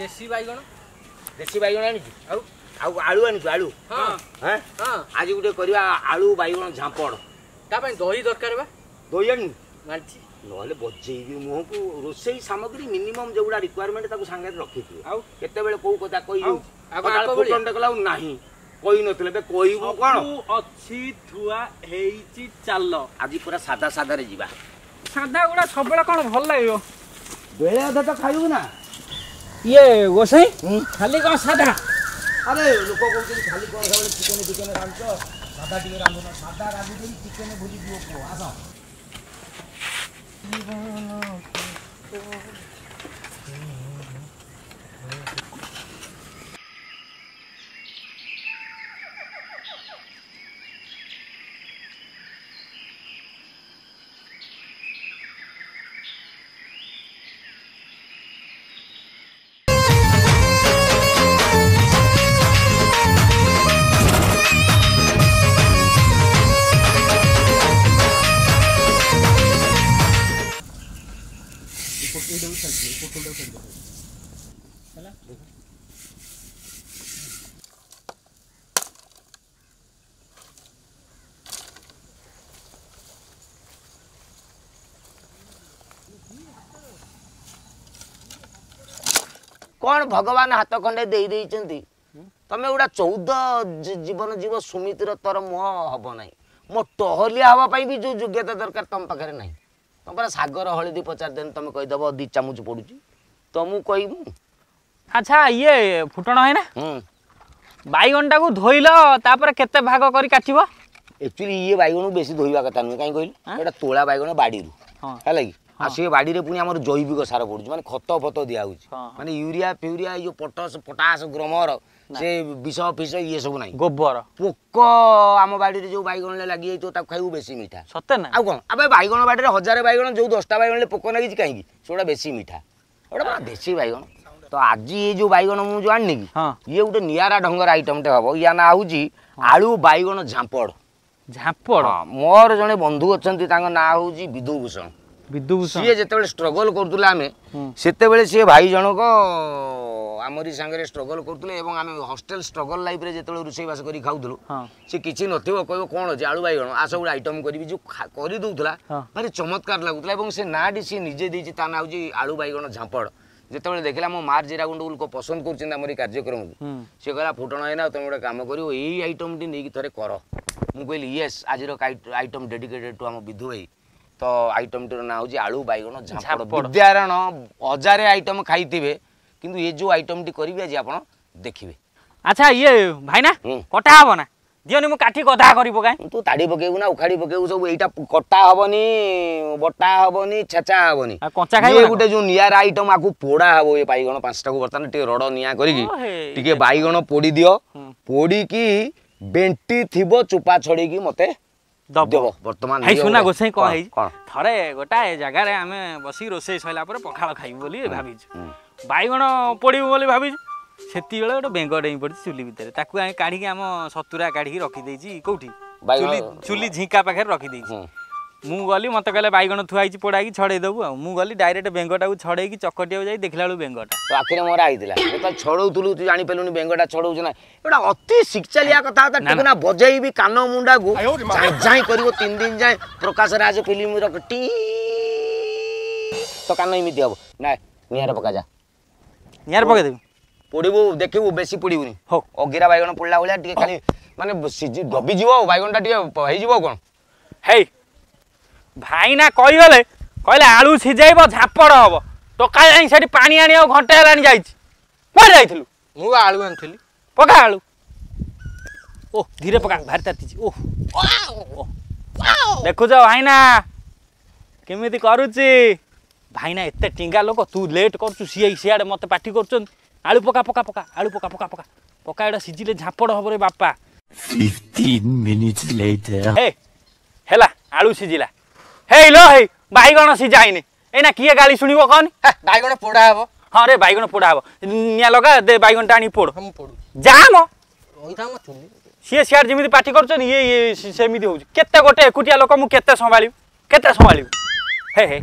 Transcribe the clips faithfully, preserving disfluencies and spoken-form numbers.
ଦେଶୀ ବାଇଗଣ ଦେଶୀ ବାଇଗଣ ଆଣିଛୁ ଆଉ ଆଉ ଆଳୁ ଆଣିଛୁ ଆଳୁ ହଁ ହଁ ହଁ ଆଜି ଗୋଟେ କରିବା ଆଳୁ ବାଇଗଣ ଝାମ୍ପଡ଼ ତା ପାଇଁ ଦହି ଦରକାର ବା ଦହି ଆଣିନୁ ଆଣିଛି ନହେଲେ ବଜେଇବି ମୁହଁକୁ ରୋଷେଇ ସାମଗ୍ରୀ ମିନିମମ୍ ଯୋଉଗୁଡ଼ା ରିକ୍ୱାରମେଣ୍ଟ ତାକୁ ସାଙ୍ଗରେ ରଖିଥିବ ଆଉ କେତେବେଳେ କୋଉ କଥା କହିଯାଉଛି ଆଉ କଣ ଆଗ ଭଳିଆ? ଫୁଟଣଟେ କଲା ଆଉ ନାହିଁ କହିନଥିଲେ ଏବେ କହିବୁ କଣ ସବୁ ଅଛି ଥୁଆ ହେଇଛି ଚାଲ ଆଜି ପୁରା ସାଧା ସାଧାରେ ଯିବା ସାଧା ଗୁଡା ସବୁବେଳେ କଣ ଭଲ ଲାଗିବ ବେଳେ ଅଧେ ତ ଖାଇବୁ ନା ଇଏ ଗୋସାଇ ଖାଲି କଣ ସାଧା ଆରେ ଲୋକ କହୁଛନ୍ତି ଖାଲି କଣ ସବୁବେଳେ ଚିକେନ ଫିକେନ ରାନ୍ଧୁଛ ସାଧା ଟିକେ ରାନ୍ଧୁନ ସାଧା ରାନ୍ଧୁଛନ୍ତି ଚିକେନ ଭୁଲିଯିବ ପୁଅ ଆସ କଣ ଭଗବାନ ହାତ ଖଣ୍ଡେ ଦେଇ ଦେଇଛନ୍ତି ତମେ ଗୋଟା ଚଉଦ ଜୀ- ଜୀବନ ଜୀବ ସୁମିତିର ତୋର ମୁହଁ ହବ ନାହିଁ ମୋ ଟହଲିଆ ହବା ପାଇଁ ବି ଯୋଉ ଯୋଗ୍ୟତା ଦରକାର ତମ ପାଖରେ ନାହିଁ ତମ ପରା ସାଗର ହଳଦୀ ପଚାରିଦେନି ତମେ କହିଦବ ଦି ଚାମଚ ପଡୁଛି ତ ମୁଁ କହିବୁ ଆଚ୍ଛା ଇଏ ଫୁଟଣ ହେଇନା ହୁଁ ବାଇଗଣଟାକୁ ଧୋଇଲ ତାପରେ କେତେ ଭାଗ କରି କାଟିବ ଆକ୍ଚୁଆଲି ଇଏ ବାଇଗଣକୁ ବେଶୀ ଧୋଇବା କଥା ନୁହେଁ କାହିଁ କହିଲୁ ଆଁ? ଏଇଟା ତୋଳା ବାଇଗଣ ବାଡ଼ିରୁ ହଁ ହେଲା କି ଆଉ ସେ ବାଡ଼ିରେ ପୁଣି ଆମର ଜୈବିକ ସାର ପଡୁଛି ମାନେ ଖତ ଫତ ଦିଆହଉଛି ହଁ, ହଁ। ମାନେ ୟୁରିଆ ଫ୍ୟୁରିଆ ଏଇ ଯୋଉ ପଟାସ ପଟାସ ଗ୍ରୋମର ସେ ବିଷ ଫିଷ ଇଏ ସବୁ ନାହିଁ ଗୋବର ପୋକ ଆମ ବାଡ଼ିରେ ଯୋଉ ବାଇଗଣରେ ଲାଗିଯାଇଥିବ ତାକୁ ଖାଇବୁ ବେଶୀ ମିଠା ସତେ ନା ଆଉ କଣ ଆବେ ବାଇଗଣ ବାଡ଼ିରେ ହଜାରେ ବାଇଗଣ ଯୋଉ ଦଶଟା ବାଇଗଣରେ ପୋକ ଲାଗିଛି କାହିଁକି ସେଗୁଡ଼ା ବେଶୀ ମିଠା ଏଗୁଡ଼ା ପରା ଦେଶୀ ବାଇଗଣ ତ ଆଜି ଏ ଯୋଉ ବାଇଗଣ ମୁଁ ଯୋଉ ଆଣିନି କି ହଁ ଇଏ ଗୋଟେ ନିଆରା ଢଙ୍ଗର ଆଇଟମଟେ ହବ ୟା ନାଁ ହଉଛି ଆଳୁ ବାଇଗଣ ଝାମ୍ପଡ଼ ଝାମ୍ପଡ଼ ହଁ, ମୋର ଜଣେ ବନ୍ଧୁ ଅଛନ୍ତି ତାଙ୍କ ନାଁ ହଉଛି ବିଧୁଭୂଷଣ ବିଦୁଭୂଷଣ ସିଏ ଯେତେବେଳେ ଷ୍ଟ୍ରଗଲ କରୁଥିଲେ ଆମେ ହୁଁ। ସେତେବେଳେ ସିଏ ଭାଇ ଜଣକ ଆମରି ସାଙ୍ଗରେ ଷ୍ଟ୍ରଗଲ କରୁଥିଲେ ଏବଂ ଆମେ ହଷ୍ଟେଲ ଷ୍ଟ୍ରଗଲ ଲାଇଫରେ ଯେତେବେଳେ ରୋଷେଇବାସ କରି ଖାଉଥିଲୁ ହଁ ସେ କିଛି ନଥିବ କହିବ କ'ଣ ଅଛି ଆଳୁ ବାଇଗଣ ଆସ ଗୋଟେ ଆଇଟମ୍ କରିବି ଯୋଉ ଖା- କରିଦେଉଥିଲା ହଁ। ଭାରି ଚମତ୍କାର ଲାଗୁଥିଲା ଏବଂ ସେ ନାଁଟି ସିଏ ନିଜେ ଦେଇଛି ତା ନାଁ ହେଉଛି ଆଳୁ ବାଇଗଣ ଝାମ୍ପଡ଼ ଯେତେବେଳେ ଦେଖିଲା ମୋ ମାର ଜିରା ଗୁଣ୍ଡକୁ ଲୋକ ପସନ୍ଦ କରୁଛନ୍ତି ଆମର ଏଇ କାର୍ଯ୍ୟକ୍ରମକୁ ହୁଁ ସେ କହିଲା ଫୁଟଣ ହେଇନା ତମେ ଗୋଟେ କାମ କରିବ ଏଇ ଆଇଟମ୍ଟି ନେଇକି ଥରେ କର ମୁଁ କହିଲି ୟେସ୍ ଆଜିର ଆଇଟମ୍ ଡେଡିକେଟେଡ୍ ଟୁ ଆମ ବିଧୁ ଭାଇ ତ ଆଇଟମ୍ଟିର ନାଁ ହେଉଛି ଆଳୁ ବାଇଗଣ ଝାମ୍ପଡ଼ ଝାମ୍ପଡ଼। ବିଦ୍ୟାରଣ ହଜାରେ ଆଇଟମ୍ ଖାଇଥିବେ କିନ୍ତୁ ଏ ଯୋଉ ଆଇଟମ୍ଟି କରିବି ଆଜି ଆପଣ ଦେଖିବେ ଆଚ୍ଛା ଇଏ ଭାଇନା ହୁଁ। କଟା ହବ ନା ଦିଅନି ମୁଁ କାଠି ଗଦା କରି ପକାଏ ତୁ ତାଡ଼ି ପକେଇବୁ ନା ଉଖାଡ଼ି ପକେଇବୁ ସବୁ ଏଇଟା କଟା ହବନି ବଟା ହବନି ଛେଚା ହବନି ଆଉ କଞ୍ଚା ଖାଇବ ଇଏ ନା ଗୋଟେ ଯୋଉ ନିଆରା ଆଇଟମ୍ ଆକୁ ପୋଡ଼ା ହବ ଏ ବାଇଗଣ ପାଞ୍ଚଟାକୁ ବର୍ତ୍ତମାନ ଟିକେ ରଡ଼ ନିଆଁ କରିକି ଓ ହେ। ଟିକେ ବାଇଗଣ ପୋଡ଼ି ଦିଅ ହୁଁ। ପୋଡ଼ିକି ବେଣ୍ଟି ଥିବ ଚୋପା ଛଡ଼େଇକି ମତେ ଦବ ଦେବ ବର୍ତ୍ତମାନ ହେଇ ଇଏ ସୁନା ଗୋଟେ- ଗୋସାଇ କଣ ହେଇଛି କଣ ଥରେ ଗୋଟାଏ ଜାଗାରେ ଆମେ ବସିକି ରୋଷେଇ ସରିଲା ପରେ ପଖାଳ ଖାଇବୁ ବୋଲି ଭାବିଛୁ ହୁଁ। ବାଇଗଣ ପୋଡ଼ିବୁ ବୋଲି ଭାବିଛୁ ସେତିକିବେଳେ ଗୋଟେ ବେଙ୍ଗ ଡେଇଁ ପଡ଼ିଛି ଚୁଲି ଭିତରେ ତାକୁ ଆମେ କାଢ଼ିକି ଆମ ସତୁରା କାଢ଼ିକି ରଖିଦେଇଛି କୋଉଠି ବାଇଗଣ- ଚୁଲି ଚୁଲି ଝିଙ୍କା ପାଖରେ ରଖିଦେଇଛି ହୁଁ। ମୁଁ ଗଲି ମତେ କହିଲେ ବାଇଗଣ ଥୁଆ ହେଇଛି ପୋଡ଼ା ହେଇକି ଛଡ଼େଇ ଦେବୁ ଆଉ ମୁଁ ଗଲି ଡାଇରେକ୍ଟ ବେଙ୍ଗଟାକୁ ଛଡ଼େଇକି ଚକଟିବାକୁ ଯାଇ ଦେଖିଲା ବେଳକୁ ବେଙ୍ଗଟା ତୋ ଆଖିରେ ମରା ହେଇଥିଲା ଯେତେବେଳେ ଛଡ଼ଉଥିଲୁ ତୁ ଜାଣିପାରିଲୁନି ବେଙ୍ଗଟା ଛଡ଼ଉଛି ନା ଏଗୁଡ଼ା ଅତି ଶିକ୍ଷାଲିଆ କଥାବାର୍ତ୍ତା ନା, ଟିକେ ନା ବଜେଇବି କାନ ମୁଣ୍ଡାକୁ ଯାଏଁ ଯାଏଁ କରିବ ତିନି ଦିନ ଯାଏଁ ପ୍ରକାଶ ରାଜ ଫିଲ୍ମର ଟି ତ କାନ ଏମିତି ହବ ନା ନିଆଁରେ ପକା ଯା ନିଆଁରେ ପକେଇଦେବି ପୋଡ଼ିବୁ ଦେଖିବୁ ବେଶୀ ପୋଡ଼ିବୁନି ହଉ ଅଗିରା ବାଇଗଣ ପୋଡ଼ିଲା ଭଳିଆ ଟିକେ ଖାଲି ମାନେ ସିଝି ଦବିଯିବ ଆଉ ବାଇଗଣଟା ଟିକେ ହେଇଯିବ ଆଉ କ'ଣ ହେଇ ଭାଇନା କହିଗଲେ କହିଲେ ଆଳୁ ସିଝେଇବ ଝାପଡ଼ ହବ ଟୋକା ଯାଇ ସେଠି ପାଣି ଆଣିବାକୁ ଘଣ୍ଟେ ହେଲାଣି ଯାଇଛି କୁଆଡ଼େ ଯାଇଥିଲୁ ମୁଁ ବା ଆଳୁ ଆଣିଥିଲି ପକା ଆଳୁ ଓ ଧୀରେ ପକା ଭାରି ତାତିଛି ଓ ଓ। ଦେଖୁଛ ଭାଇନା କେମିତି କରୁଛି ଭାଇନା ଏତେ ଟିଙ୍ଗା ଲୋକ ତୁ ଲେଟ୍ କରୁଛୁ ସିଏ ସିଆଡ଼େ ମୋତେ ପାଟି କରୁଛନ୍ତି ଆଳୁ ପକା ପକା ପକା ଆଳୁ ପକା ପକା ପକା ପକା ଏଇଟା ସିଝିଲେ ଝାପଡ଼ ହବ ରେ ବାପା Fifteen minutes later. ହେ ହେଲା ଆଳୁ ସିଝିଲା ହେଇ ଲୋ ହେଇ ବାଇଗଣ ସିଝାଇନି ଏଇନା କିଏ ଗାଳି ଶୁଣିବ କହନି ହେ, ବାଇଗଣ ପୋଡ଼ା ହବ ହଁ ରେ ବାଇଗଣ ପୋଡ଼ା ହବ ନିଆଁ ଲଗା ଦେ ବାଇଗଣଟା ଆଣି ପୋଡ଼ ହଁ ମୁଁ ପୋଡୁଛି ଯା ମ ରହିଥା ମୋ ଚୁଲି ସିଏ ସିଆଡ଼େ ଯେମିତି ପାଟି କରୁଛନ୍ତି ଇଏ ଇଏ ସେ- ସେମିତି ହଉଛି କେତେ ଗୋଟେ ଏକୁଟିଆ ଲୋକ ମୁଁ କେତେ ସମ୍ଭାଳିବି କେତେ ସମ୍ଭାଳିବି ହେ ହେ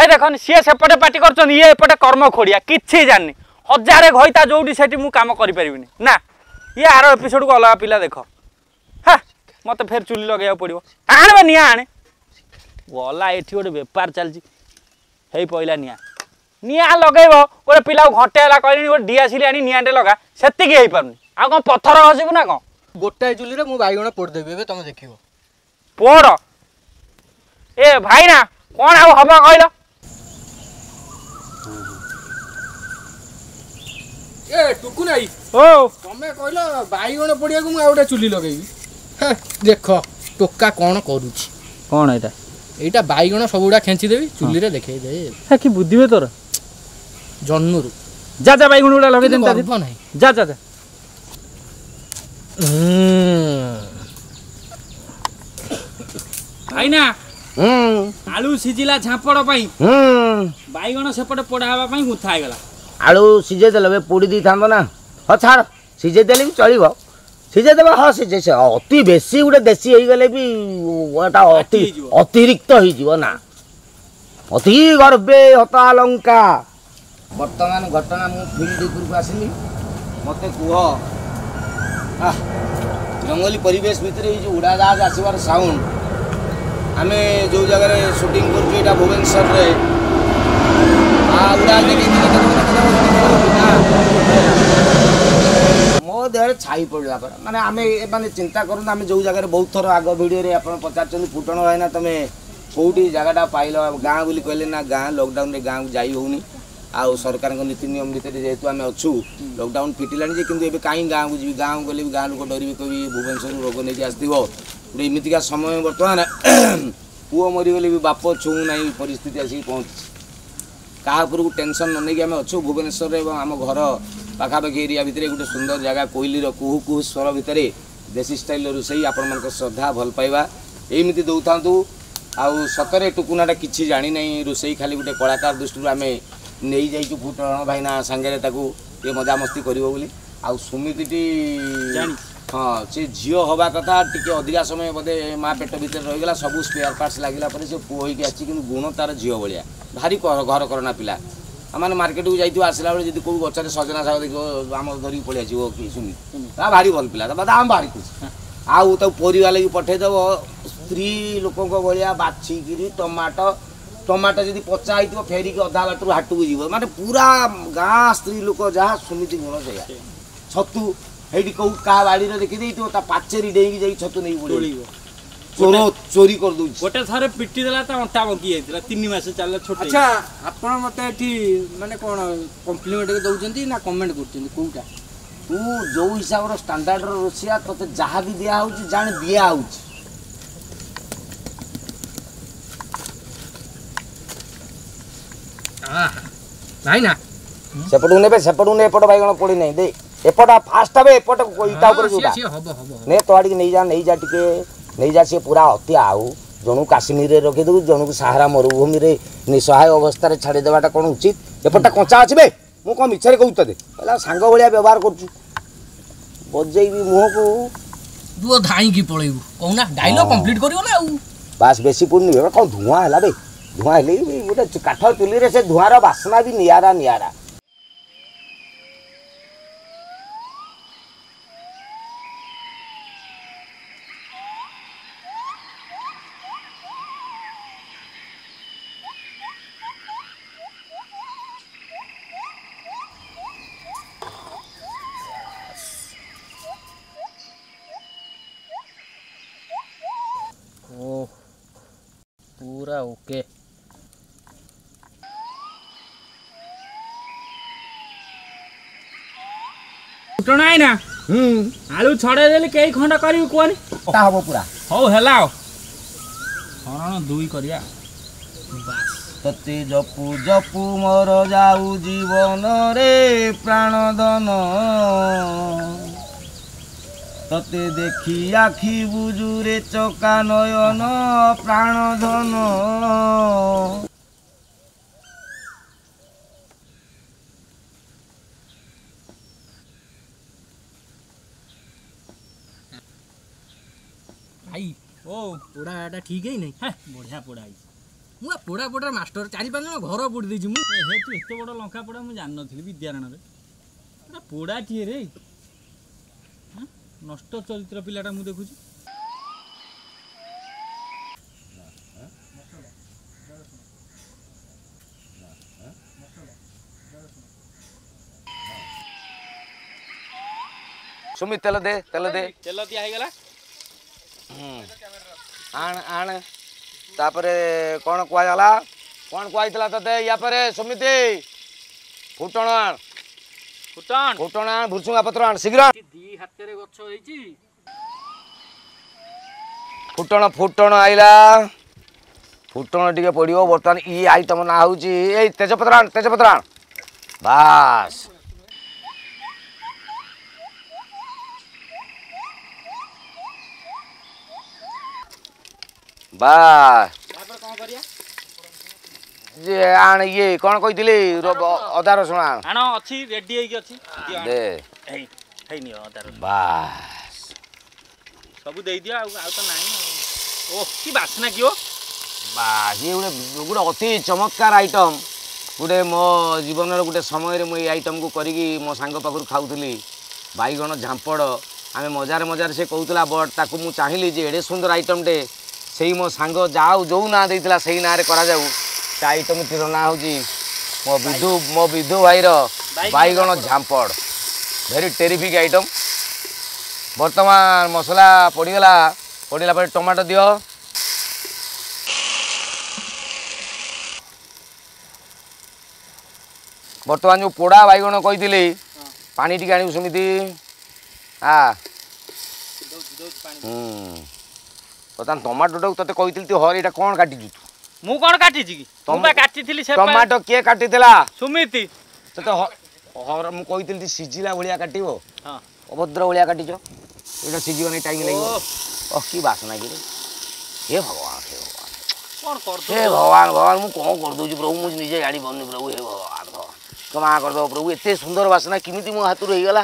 ଏ ଦେଖନି, ସିଏ ସେପଟେ ପାଟି କରୁଛନ୍ତି, ଇଏ ଏପଟେ କର୍ମ ଖୋଡ଼ିଆ, କିଛି ଜାଣିନି। ହଜାରେ ଘଇତା ଯୋଉଠି ସେଠି ମୁଁ କାମ କରିପାରିବିନି ନା। ଇଏ ଆର ଏପିସୋଡ଼କୁ ଅଲଗା ପିଲା ଦେଖ। ହଁ, ମୋତେ ଫେର ଚୁଲି ଲଗେଇବାକୁ ପଡ଼ିବ। ଆଣବେ ନିଆଁ ଆଣେ। ଗଲା ଏଠି ଗୋଟେ ବେପାର ଚାଲିଛି, ହେଇ ପଇଲା ନିଆଁ। ନିଆଁ ଲଗେଇବ ଗୋଟେ ପିଲାକୁ ଘଣ୍ଟେ ହେଲା କହିଲିଣି, ଗୋଟେ ଡିଆସିଲି ଆଣି ନିଆଁଟେ ଲଗା, ସେତିକି ହେଇପାରୁନି। ଆଉ କ'ଣ ପଥର ଘଷିବୁ ନା କ'ଣ? ଗୋଟାଏ ଚୁଲିରେ ମୁଁ ବାଇଗଣ ପୋଡ଼ିଦେବି ଏବେ, ତମେ ଦେଖିବ। ପୋଡ଼ ଏ ଭାଇନା, କ'ଣ ଆଉ ହବ କହିଲ? ଏ ଟୁକୁ ନାଇ ଓ, ତମେ କହିଲ ବାଇଗଣ ପୋଡ଼ିବାକୁ, ମୁଁ ଆଉ ଗୋଟେ ଚୁଲି ଲଗେଇବି। ଦେଖ ଟୋକା କ'ଣ କରୁଛି। କ'ଣ ଏଇଟା? ଏଇଟା ବାଇଗଣ ସବୁଗୁଡ଼ା ଖେଞ୍ଚିଦେବି ଚୁଲିରେ, ଦେଖେଇଦେ। କି ବୁଦ୍ଧିବେ ତୋର ଜନ୍ମରୁ। ଯା ଯା, ବାଇଗଣ ଗୁଡ଼ା ଲଗେଇ ଦେବି ନାହିଁ। ଯା ଯା ଯା। ଭାଇନା, ଆଳୁ ସିଝିଲା ଝାମ୍ପଡ଼ ପାଇଁ, ବାଇଗଣ ସେପଟେ ପୋଡ଼ା ହେବା ପାଇଁ ଗୁନ୍ଥା ହେଇଗଲା। ଆଳୁ ସିଝେଇ ଦେଲେ ପୋଡ଼ି ଦେଇଥାନ୍ତ ନା? ହଁ ଛାଡ଼, ସିଝେଇ ଦେଲେ ବି ଚଳିବ। ସିଝେଇ ଦେବା, ହଁ ସିଝେଇ। ସେ ଅତି ବେଶୀ ଗୋଟେ ଦେଶୀ ହେଇଗଲେ ବି ଏଟା ଅତି ଅତିରିକ୍ତ ହେଇଯିବ ନା। ଅତି ଗର୍ବେ ହତା ଲଙ୍କା। ବର୍ତ୍ତମାନ ଘଟଣା, ମୁଁ ଫିଲ୍ଡ ଉପରକୁ ଆସିଲି। ମୋତେ କୁହ, ଜଙ୍ଗଲୀ ପରିବେଶ ଭିତରେ ଏଇ ଯେଉଁ ଉଡ଼ାଜାହାଜ ଆସିବାର ସାଉଣ୍ଡ, ଆମେ ଯେଉଁ ଜାଗାରେ ସୁଟିଂ କରୁଛୁ ଏଇଟା ଭୁବନେଶ୍ୱରରେ, ଉଡ଼ାଜାହାଜ ମୋ ଦେହରେ ଛାଇ ପଡ଼ିଲା ପରା। ମାନେ ଆମେ ମାନେ ଚିନ୍ତା କରନ୍ତୁ, ଆମେ ଯେଉଁ ଜାଗାରେ ବହୁତ ଥର ଆଗ ଭିଡ଼ିଓରେ ଆପଣ ପଚାରିଛନ୍ତି, ଫୁଟଣ ଭାଇନା ତମେ କେଉଁଠି ଜାଗାଟା ପାଇଲ ଗାଁ ବୋଲି କହିଲେ ନା, ଗାଁ ଲକଡାଉନରେ ଗାଁକୁ ଯାଇ ହେଉନି। ଆଉ ସରକାରଙ୍କ ନୀତି ନିୟମ ଭିତରେ ଯେହେତୁ ଆମେ ଅଛୁ, ଲକଡାଉନ ଫିଟିଲାଣି ଯେ, କିନ୍ତୁ ଏବେ କାହିଁ ଗାଁକୁ ଯିବି? ଗାଁକୁ ଗଲେ ବି ଗାଁ ଲୋକ ଡରିବେ, କହିବି ଭୁବନେଶ୍ୱରରୁ ରୋଗ ନେଇକି ଆସିଥିବ। ଗୋଟେ ଏମିତିକା ସମୟ ବର୍ତ୍ତମାନ, ପୁଅ ମରିଗଲେ ବି ବାପ ଛୁଉଁ ନାହିଁ ପରିସ୍ଥିତି ଆସିକି ପହଞ୍ଚିଛି। କାହା ଉପରକୁ ଟେନସନ୍ ନ ନେଇକି ଆମେ ଅଛୁ ଭୁବନେଶ୍ୱରରେ ଏବଂ ଆମ ଘର ପାଖାପାଖି ଏରିଆ ଭିତରେ ଗୋଟେ ସୁନ୍ଦର ଜାଗା, କୋଇଲିର କୁହୁ କୁହୁ ସ୍ୱର ଭିତରେ ଦେଶୀ ଷ୍ଟାଇଲର ରୋଷେଇ। ଆପଣମାନଙ୍କ ଶ୍ରଦ୍ଧା ଭଲ ପାଇବା ଏମିତି ଦେଉଥାନ୍ତୁ। ଆଉ ସତରେ ଟୁକୁନାଟା କିଛି ଜାଣିନାହିଁ ରୋଷେଇ, ଖାଲି ଗୋଟେ କଳାକାର ଦୃଷ୍ଟିରୁ ଆମେ ନେଇଯାଇଛୁ ଫୁଟଣ ଭାଇନା ସାଙ୍ଗରେ, ତାକୁ ଟିକେ ମଜାମସ୍ତି କରିବ ବୋଲି। ଆଉ ସୁମିତିଟି, ହଁ, ସେ ଝିଅ ହେବା କଥା, ଟିକେ ଅଧିକା ସମୟ ବୋଧେ ମା ପେଟ ଭିତରେ ରହିଗଲା। ସବୁ ସ୍ପେୟାର ପାର୍ଟସ୍ ଲାଗିଲା ପରେ ସେ ପୁଅ ହେଇକି ଆସିଛି, କିନ୍ତୁ ଗୁଣ ତାର ଝିଅ ଭଳିଆ। ଭାରି ଘର କରନା ପିଲା। ମାନେ ମାର୍କେଟକୁ ଯାଇଥିବ, ଆସିଲା ବେଳେ ଯଦି କେଉଁ ଗଛରେ ସଜନା ଶାଗ ଦେଖିବ, ଆମ ଧରିକି ପଳେଇ ଆସିବ କି ସୁମିତ। ତା ଭାରି ଭଲ ପିଲା, ତା ଆମ ଭାରି ଖୁସି। ଆଉ ତାକୁ ପରିବା ଲାଗି ପଠେଇଦେବ, ସ୍ତ୍ରୀ ଲୋକଙ୍କ ଭଳିଆ ବାଛିକିରି ଟମାଟୋ, ଟମାଟୋ ଯଦି ପଚା ହେଇଥିବ ଫେରିକି ଅଧା ବାଟରୁ ହାଟକୁ ଯିବ। ମାନେ ପୁରା ଗାଁ ସ୍ତ୍ରୀ ଲୋକ ଯାହା, ସୁମିତି ଗୁଣ ସେଇଆ। ଛତୁ ହେଇଠି କେଉଁ କାହା ବାଡ଼ିରେ ଦେଖିଦେଇଥିବ, ତା ପାଚେରୀ ଡେଇଁକି ଯାଇକି ଛତୁ ନେଇକି ପଳେଇବ, ଚୋର ଚୋରି କରିଦଉଛି। ଗୋଟେ ଥରେ ପିଟି ଦେଲା, ତା ଅଣ୍ଟା ବଙ୍କି ଯାଇଥିଲା, ତିନି ମାସ ଚାଲିଲା ଛୋଟ। ଆଚ୍ଛା, ଆପଣ ମତେ ଏଠି ମାନେ କ'ଣ କମ୍ପ୍ଲିମେଣ୍ଟ ଦଉଛନ୍ତି ନା କମେଣ୍ଟ କରୁଛନ୍ତି, କୋଉଟା? ତୁ ଯୋଉ ହିସାବର ଷ୍ଟାଣ୍ଡାର୍ଡର ରୋଷିଆ, ତୋତେ ଯାହା ବି ଦିଆ ହଉଛି ଜାଣେ ଦିଆ ହଉଛି। ଭାଇ ନା, ସେପଟକୁ ନେବେ, ସେପଟକୁ ନେ। ଏପଟ ବାଇଗଣ ପୋଡ଼ି ନାହିଁ, ଦେ ଏପଟ ଫାଷ୍ଟ ହବେ, ଏପଟ ଇଟା ଉପରେ ଯୋଉଟା ନେ, ତ ଆଡ଼ିକି ନେଇଯା, ନେଇଯା ଟିକେ ନେଇଯା। ସିଏ ପୁରା ଅତି। ଆଉ ଜଣକୁ କାଶ୍ମୀରରେ ରଖିଦେବୁ, ଜଣକୁ ସାହାରା ମରୁଭୂମିରେ ନିଃସହାୟ ଅବସ୍ଥାରେ ଛାଡ଼ିଦେବାଟା କ'ଣ ଉଚିତ? ଏପଟଟା କଞ୍ଚା ଅଛି ବେ। ମୁଁ କ'ଣ ମିଛରେ କହୁଛି ତତେ? କହିଲା ସାଙ୍ଗ ଭଳିଆ ବ୍ୟବହାର କରୁଛୁ, ବଜେଇବି ମୁହଁକୁ। ତୁ ଧାଇଁକି ପଳେଇବୁ କହୁନା, ଡାଇଲଗ କମ୍ପ୍ଲିଟ୍ କରିବ ନା ଆଉ। ବାସ୍, ବେଶୀ ପୁରୁନି। କ'ଣ ଧୂଆଁ ହେଲା ବେ? ଧୂଆଁ ହେଲେ ବି ଗୋଟେ କାଠ ଚୁଲିରେ ସେ ଧୂଆଁର ବାସ୍ନା ବି ନିଆରା ନିଆରା। ପୁରା ଓକେ। ଫୁଟଣ ଆଇନା, ଆଳୁ ଛଡ଼େଇ ଦେଲି, କେଇ ଖଣ୍ଡ କରିବି କୁହନି? ହବ ପୁରା। ହଉ ହେଲା, ଆଉ ହରଣ ଦୁଇ କରିବା ବାସ୍। ତତେ ଜପୁ ଜପୁ ମୋର ଯାଉ ଜୀବନରେ ପ୍ରାଣ ଧନ, ତତେ ଦେଖି ଆଖି ବୁଜୁରେ ଚକା ନୟନ ପ୍ରାଣ ଧନ। ଭାଇ ଓ, ପୋଡ଼ାଟା ଠିକ୍ ହେଇନାହିଁ? ହେ, ବଢ଼ିଆ ପୋଡ଼ା ହେଇଛି। ମୁଁ ପୋଡ଼ା ପୋଡ଼ା ମାଷ୍ଟର ଚାରି ପାଞ୍ଚ ଜଣ ଘର ପୋଡ଼ି ଦେଇଛି ମୁଁ। ହେ ତୁ ଏତେ ବଡ଼ ଲଙ୍କା ପୋଡ଼ା ମୁଁ ଜାଣିନଥିଲି ବିଦ୍ୟାରାଣରେ। ଏଟା ପୋଡ଼ାଟିଏ ରେ, ନଷ୍ଟ ଚରିତ୍ର ପିଲାଟା ମୁଁ ଦେଖୁଛି। ସୁମିତ ତେଲ ଦେ, ତେଲ ଦେ। ତେଲ ଦିଆ ହେଇଗଲା। ଆଣ ଆଣ। ତାପରେ କ'ଣ କୁହାଗଲା? କ'ଣ କୁହାହେଇଥିଲା ତତେ ୟା ପରେ ସୁମିତି? ଫୁଟଣ ଆଣ, ଫୁଟଣ, ଫୁଟଣ ଆଣ, ଭୁସୁଙ୍ଗା ପତ୍ର ଆଣ ଶୀଘ୍ର। ଦି ହାତରେ ଗଛ ହେଇଛି। ଫୁଟଣ, ଫୁଟଣ ଆଇଲା, ଫୁଟଣ ଟିକେ ପଡ଼ିବ। ବର୍ତ୍ତମାନ ଇ ଆଇଟମ ନାଁ ହେଉଛି, ଏଇ ତେଜପତ୍ର ଆଣ, ତେଜପତ୍ର ଆଣ, ବାସ୍ ବାସ୍। ଯେ ଆଣ ଇଏ କ'ଣ କହିଥିଲି, ଅଦା ରସୁଣ ଆଣ। ଆଣ, ଅଛି, ରେଡି ହେଇକି ଅଛି। ଦେ, ହେଇନି ଅଦା ରସୁଣ, ବାସ୍ ସବୁ ଦେଇଦିଅ। ଆଉ ଆଉ ତ ନାହିଁ। ଓ କି ବାସ୍ନା କି! ଓ ବାସ୍, ଇଏ ଗୋଟେ ଗୋଟେ ଅତି ଚମତ୍କାର ଆଇଟମ୍ ଗୋଟେ। ମୋ ଜୀବନର ଗୋଟେ ସମୟରେ ମୁଁ ଏଇ ଆଇଟମ୍କୁ କରିକି ମୋ ସାଙ୍ଗ ପାଖରୁ ଖାଉଥିଲି, ବାଇଗଣ ଝାମ୍ପଡ଼। ଆମେ ମଜାରେ ମଜାରେ ସେ କହୁଥିଲା, ବଟ୍ ତାକୁ ମୁଁ ଚାହିଁଲି ଯେ ଏଡ଼େ ସୁନ୍ଦର ଆଇଟମ୍ଟେ ସେଇ ମୋ ସାଙ୍ଗ ଯାଉ ଯେଉଁ ନାଁ ଦେଇଥିଲା ସେଇ ନାଁରେ କରାଯାଉ। ସେ ଆଇଟମ୍ଟିର ନାଁ ହେଉଛି ମୋ ବିଧୁ, ମୋ ବିଧୁ ଭାଇର ବାଇଗଣ ଝାମ୍ପଡ଼। Very ଟେରିଫିକ୍ item. ବର୍ତ୍ତମାନ ମସଲା ପଡ଼ିଗଲା, ପଡ଼ିଲା ପରେ ଟମାଟୋ ଦିଅ। ବର୍ତ୍ତମାନ ଯେଉଁ ପୋଡ଼ା ବାଇଗଣ କହିଥିଲି, ପାଣି ଟିକେ ଆଣିବୁ ସେମିତି। ଆ ହୁଁ, ବର୍ତ୍ତମାନ ଟମାଟୋଟାକୁ ତତେ କହିଥିଲି ତୁ ହର, ଏଇଟା କ'ଣ କାଟିଛୁ ତୁ? ମୁଁ କ'ଣ କାଟିଛି କି? ମୁଁ ବା କାଟିଥିଲି ସେ ଟମାଟୋ। କିଏ କାଟିଥିଲା? ସୁମିତି। ତତେ ହର ମୁଁ କହିଥିଲି ସିଝିଲା ଭଳିଆ କାଟିବ, ଅଭଦ୍ର ଭଳିଆ କାଟିଛ। ଏଇଟା ସିଝିବ ନାହିଁ, ଟାଇମ୍ ଲାଗିବ। ଓ କି ବାସନା କିରେ! ହେ ଭଗବାନ, ହେ ଭଗବାନ, ହେ ଭଗବାନ, ଭଗବାନ, ମୁଁ କ'ଣ କରିଦେଉଛି ପ୍ରଭୁ, ମୁଁ ନିଜେ ଜାଣିପାରୁନି ପ୍ରଭୁ। ହେ ଭଗବାନ, ଭଗବାନ, କ୍ଷମା କରିଦେବ ପ୍ରଭୁ। ଏତେ ସୁନ୍ଦର ବାସନା କେମିତି ମୋ ହାତରୁ ହେଇଗଲା?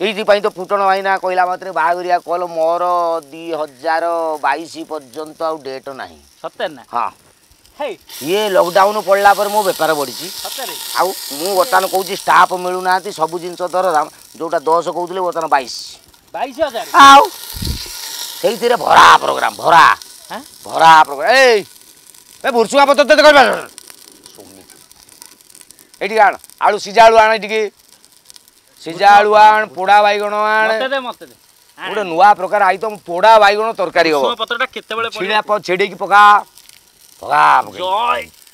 ଏଇଥିପାଇଁ ତ ଫୁଟଣ ଭାଇନା କହିଲା ମାତ୍ରେ ବାହାଘରିଆ କଲ୍ ମୋର ଦୁଇ ହଜାର ବାଇଶ ପର୍ଯ୍ୟନ୍ତ ଆଉ ଡେଟ୍ ନାହିଁ। ସତରେ ନା? ହଁ, ଇଏ ଲକଡାଉନ୍ ପଡ଼ିଲା ପରେ ମୋ ବେପାର ବଢ଼ିଛି। ଆଉ ମୁଁ ବର୍ତ୍ତମାନ କହୁଛି ଷ୍ଟାଫ୍ ମିଳୁନାହାନ୍ତି, ସବୁ ଜିନିଷ ଦରଦାମ। ଯୋଉଟା ଦଶ କହୁଥିଲେ ବର୍ତ୍ତମାନ ବାଇଶ, ବାଇଶ ହଜାର। ଆଉ ସେଇଥିରେ ଭରା ପ୍ରୋଗ୍ରାମ, ଭରା ଭରା ପ୍ରୋଗ୍ରାମ। ଏଇ ଏ ଭୁରସୁଙ୍ଗା ପତ୍ର ତତେ କରିବା। ଏଇଠି ଆଣ ଆଳୁ, ସିଝା ଆଳୁ ଆଣ, ଟିକେ ସିଝା ଆଳୁ ଆଣ, ପୋଡ଼ା ବାଇଗଣ ଆଣ। ଗୋଟେ ନୂଆ ପ୍ରକାର ଆଇଟମ ପୋଡ଼ା ବାଇଗଣ ତରକାରୀ ହବ। ପତ୍ରଟା କେତେବେଳେ ଛିଡ଼ା ଛିଡ଼େଇକି ପକା, ପକା।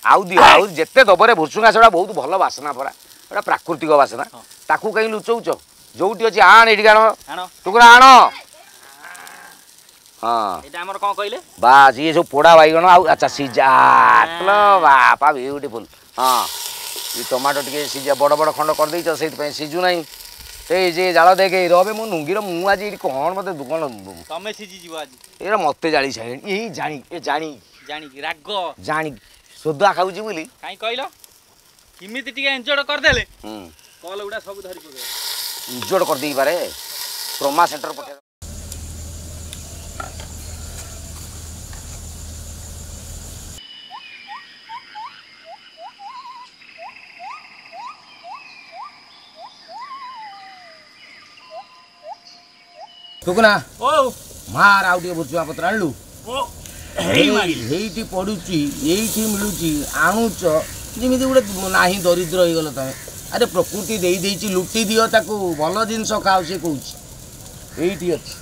ଆଉ ଦିଅ, ଆଉ ଯେତେ ଦବରେ ଭୁସୁଙ୍ଗା, ସେଟା ବହୁତ ଭଲ ବାସ୍ନା ପରା, ଏଟା ପ୍ରାକୃତିକ ବାସ୍ନା। ତାକୁ କାହିଁ ଲୁଚଉଛ? ଯୋଉଠି ଅଛି ଆଣ, ଏଇଠିକି ଆଣ, ଟୁକୁରା ଆଣ। ହଁ, ଏଇଟା ଆମର କ'ଣ କହିଲେ? ବାସ୍, ଇଏ ସବୁ ପୋଡ଼ା ବାଇଗଣ ଆଉ ଆଚ୍ଛା ସିଝା। ବାପା, ବିୟୁଟିଫୁଲ୍। ହଁ, ଏ ଟମାଟୋ ଟିକେ ସିଝା, ବଡ଼ ବଡ଼ ଖଣ୍ଡ କରିଦେଇଛ, ସେଇଥିପାଇଁ ସିଝୁ ନାହିଁ। ସେଇ ଯେ ଜାଳ ଦେଖେ ରବେ ମୁଁ ନୁଙ୍ଗିର। ମୁଁ ଆଜି ଏଇଠି କ'ଣ ମତେ କ'ଣ ତମେ ସିଝିଯିବ ଆଜି। ଏଇଟା ମତେ ଜାଳି ସାରିଲେଣି। ଏଇ ଜାଣି, ଏ ଜାଣି ଜାଣିକି ରାଗ, ଜାଣି ସୋଦା ଖାଉଛି ବୋଲି। କାହିଁ କହିଲ? କେମିତି ଟିକେ ଏନ୍ଜୟ କରିଦେଲେ କଲ୍ ଗୁଡ଼ା ସବୁ ଧରି ପକେଇବ, ଇଞ୍ଜୋର୍ଡ କରିଦେଇପାରେ, ଟ୍ରମା ସେଣ୍ଟର ପଠେଇ। ଟୁକୁନା ଓ ମାର, ଆଉ ଟିକେ ଭୁସୁଙ୍ଗା ପତ୍ର ଆଣିଲୁ? ଏଇଠି ପଡୁଛି, ଏଇଠି ମିଳୁଛି, ଆଣୁଛ ଯେମିତି ଗୋଟେ ନାହିଁ। ଦରିଦ୍ର ହେଇଗଲ ତମେ। ଆରେ ପ୍ରକୃତି ଦେଇ ଦେଇଛି, ଲୁଟି ଦିଅ ତାକୁ, ଭଲ ଜିନିଷ ଖାଅ ସେ କହୁଛି। ଏଇଠି ଅଛି।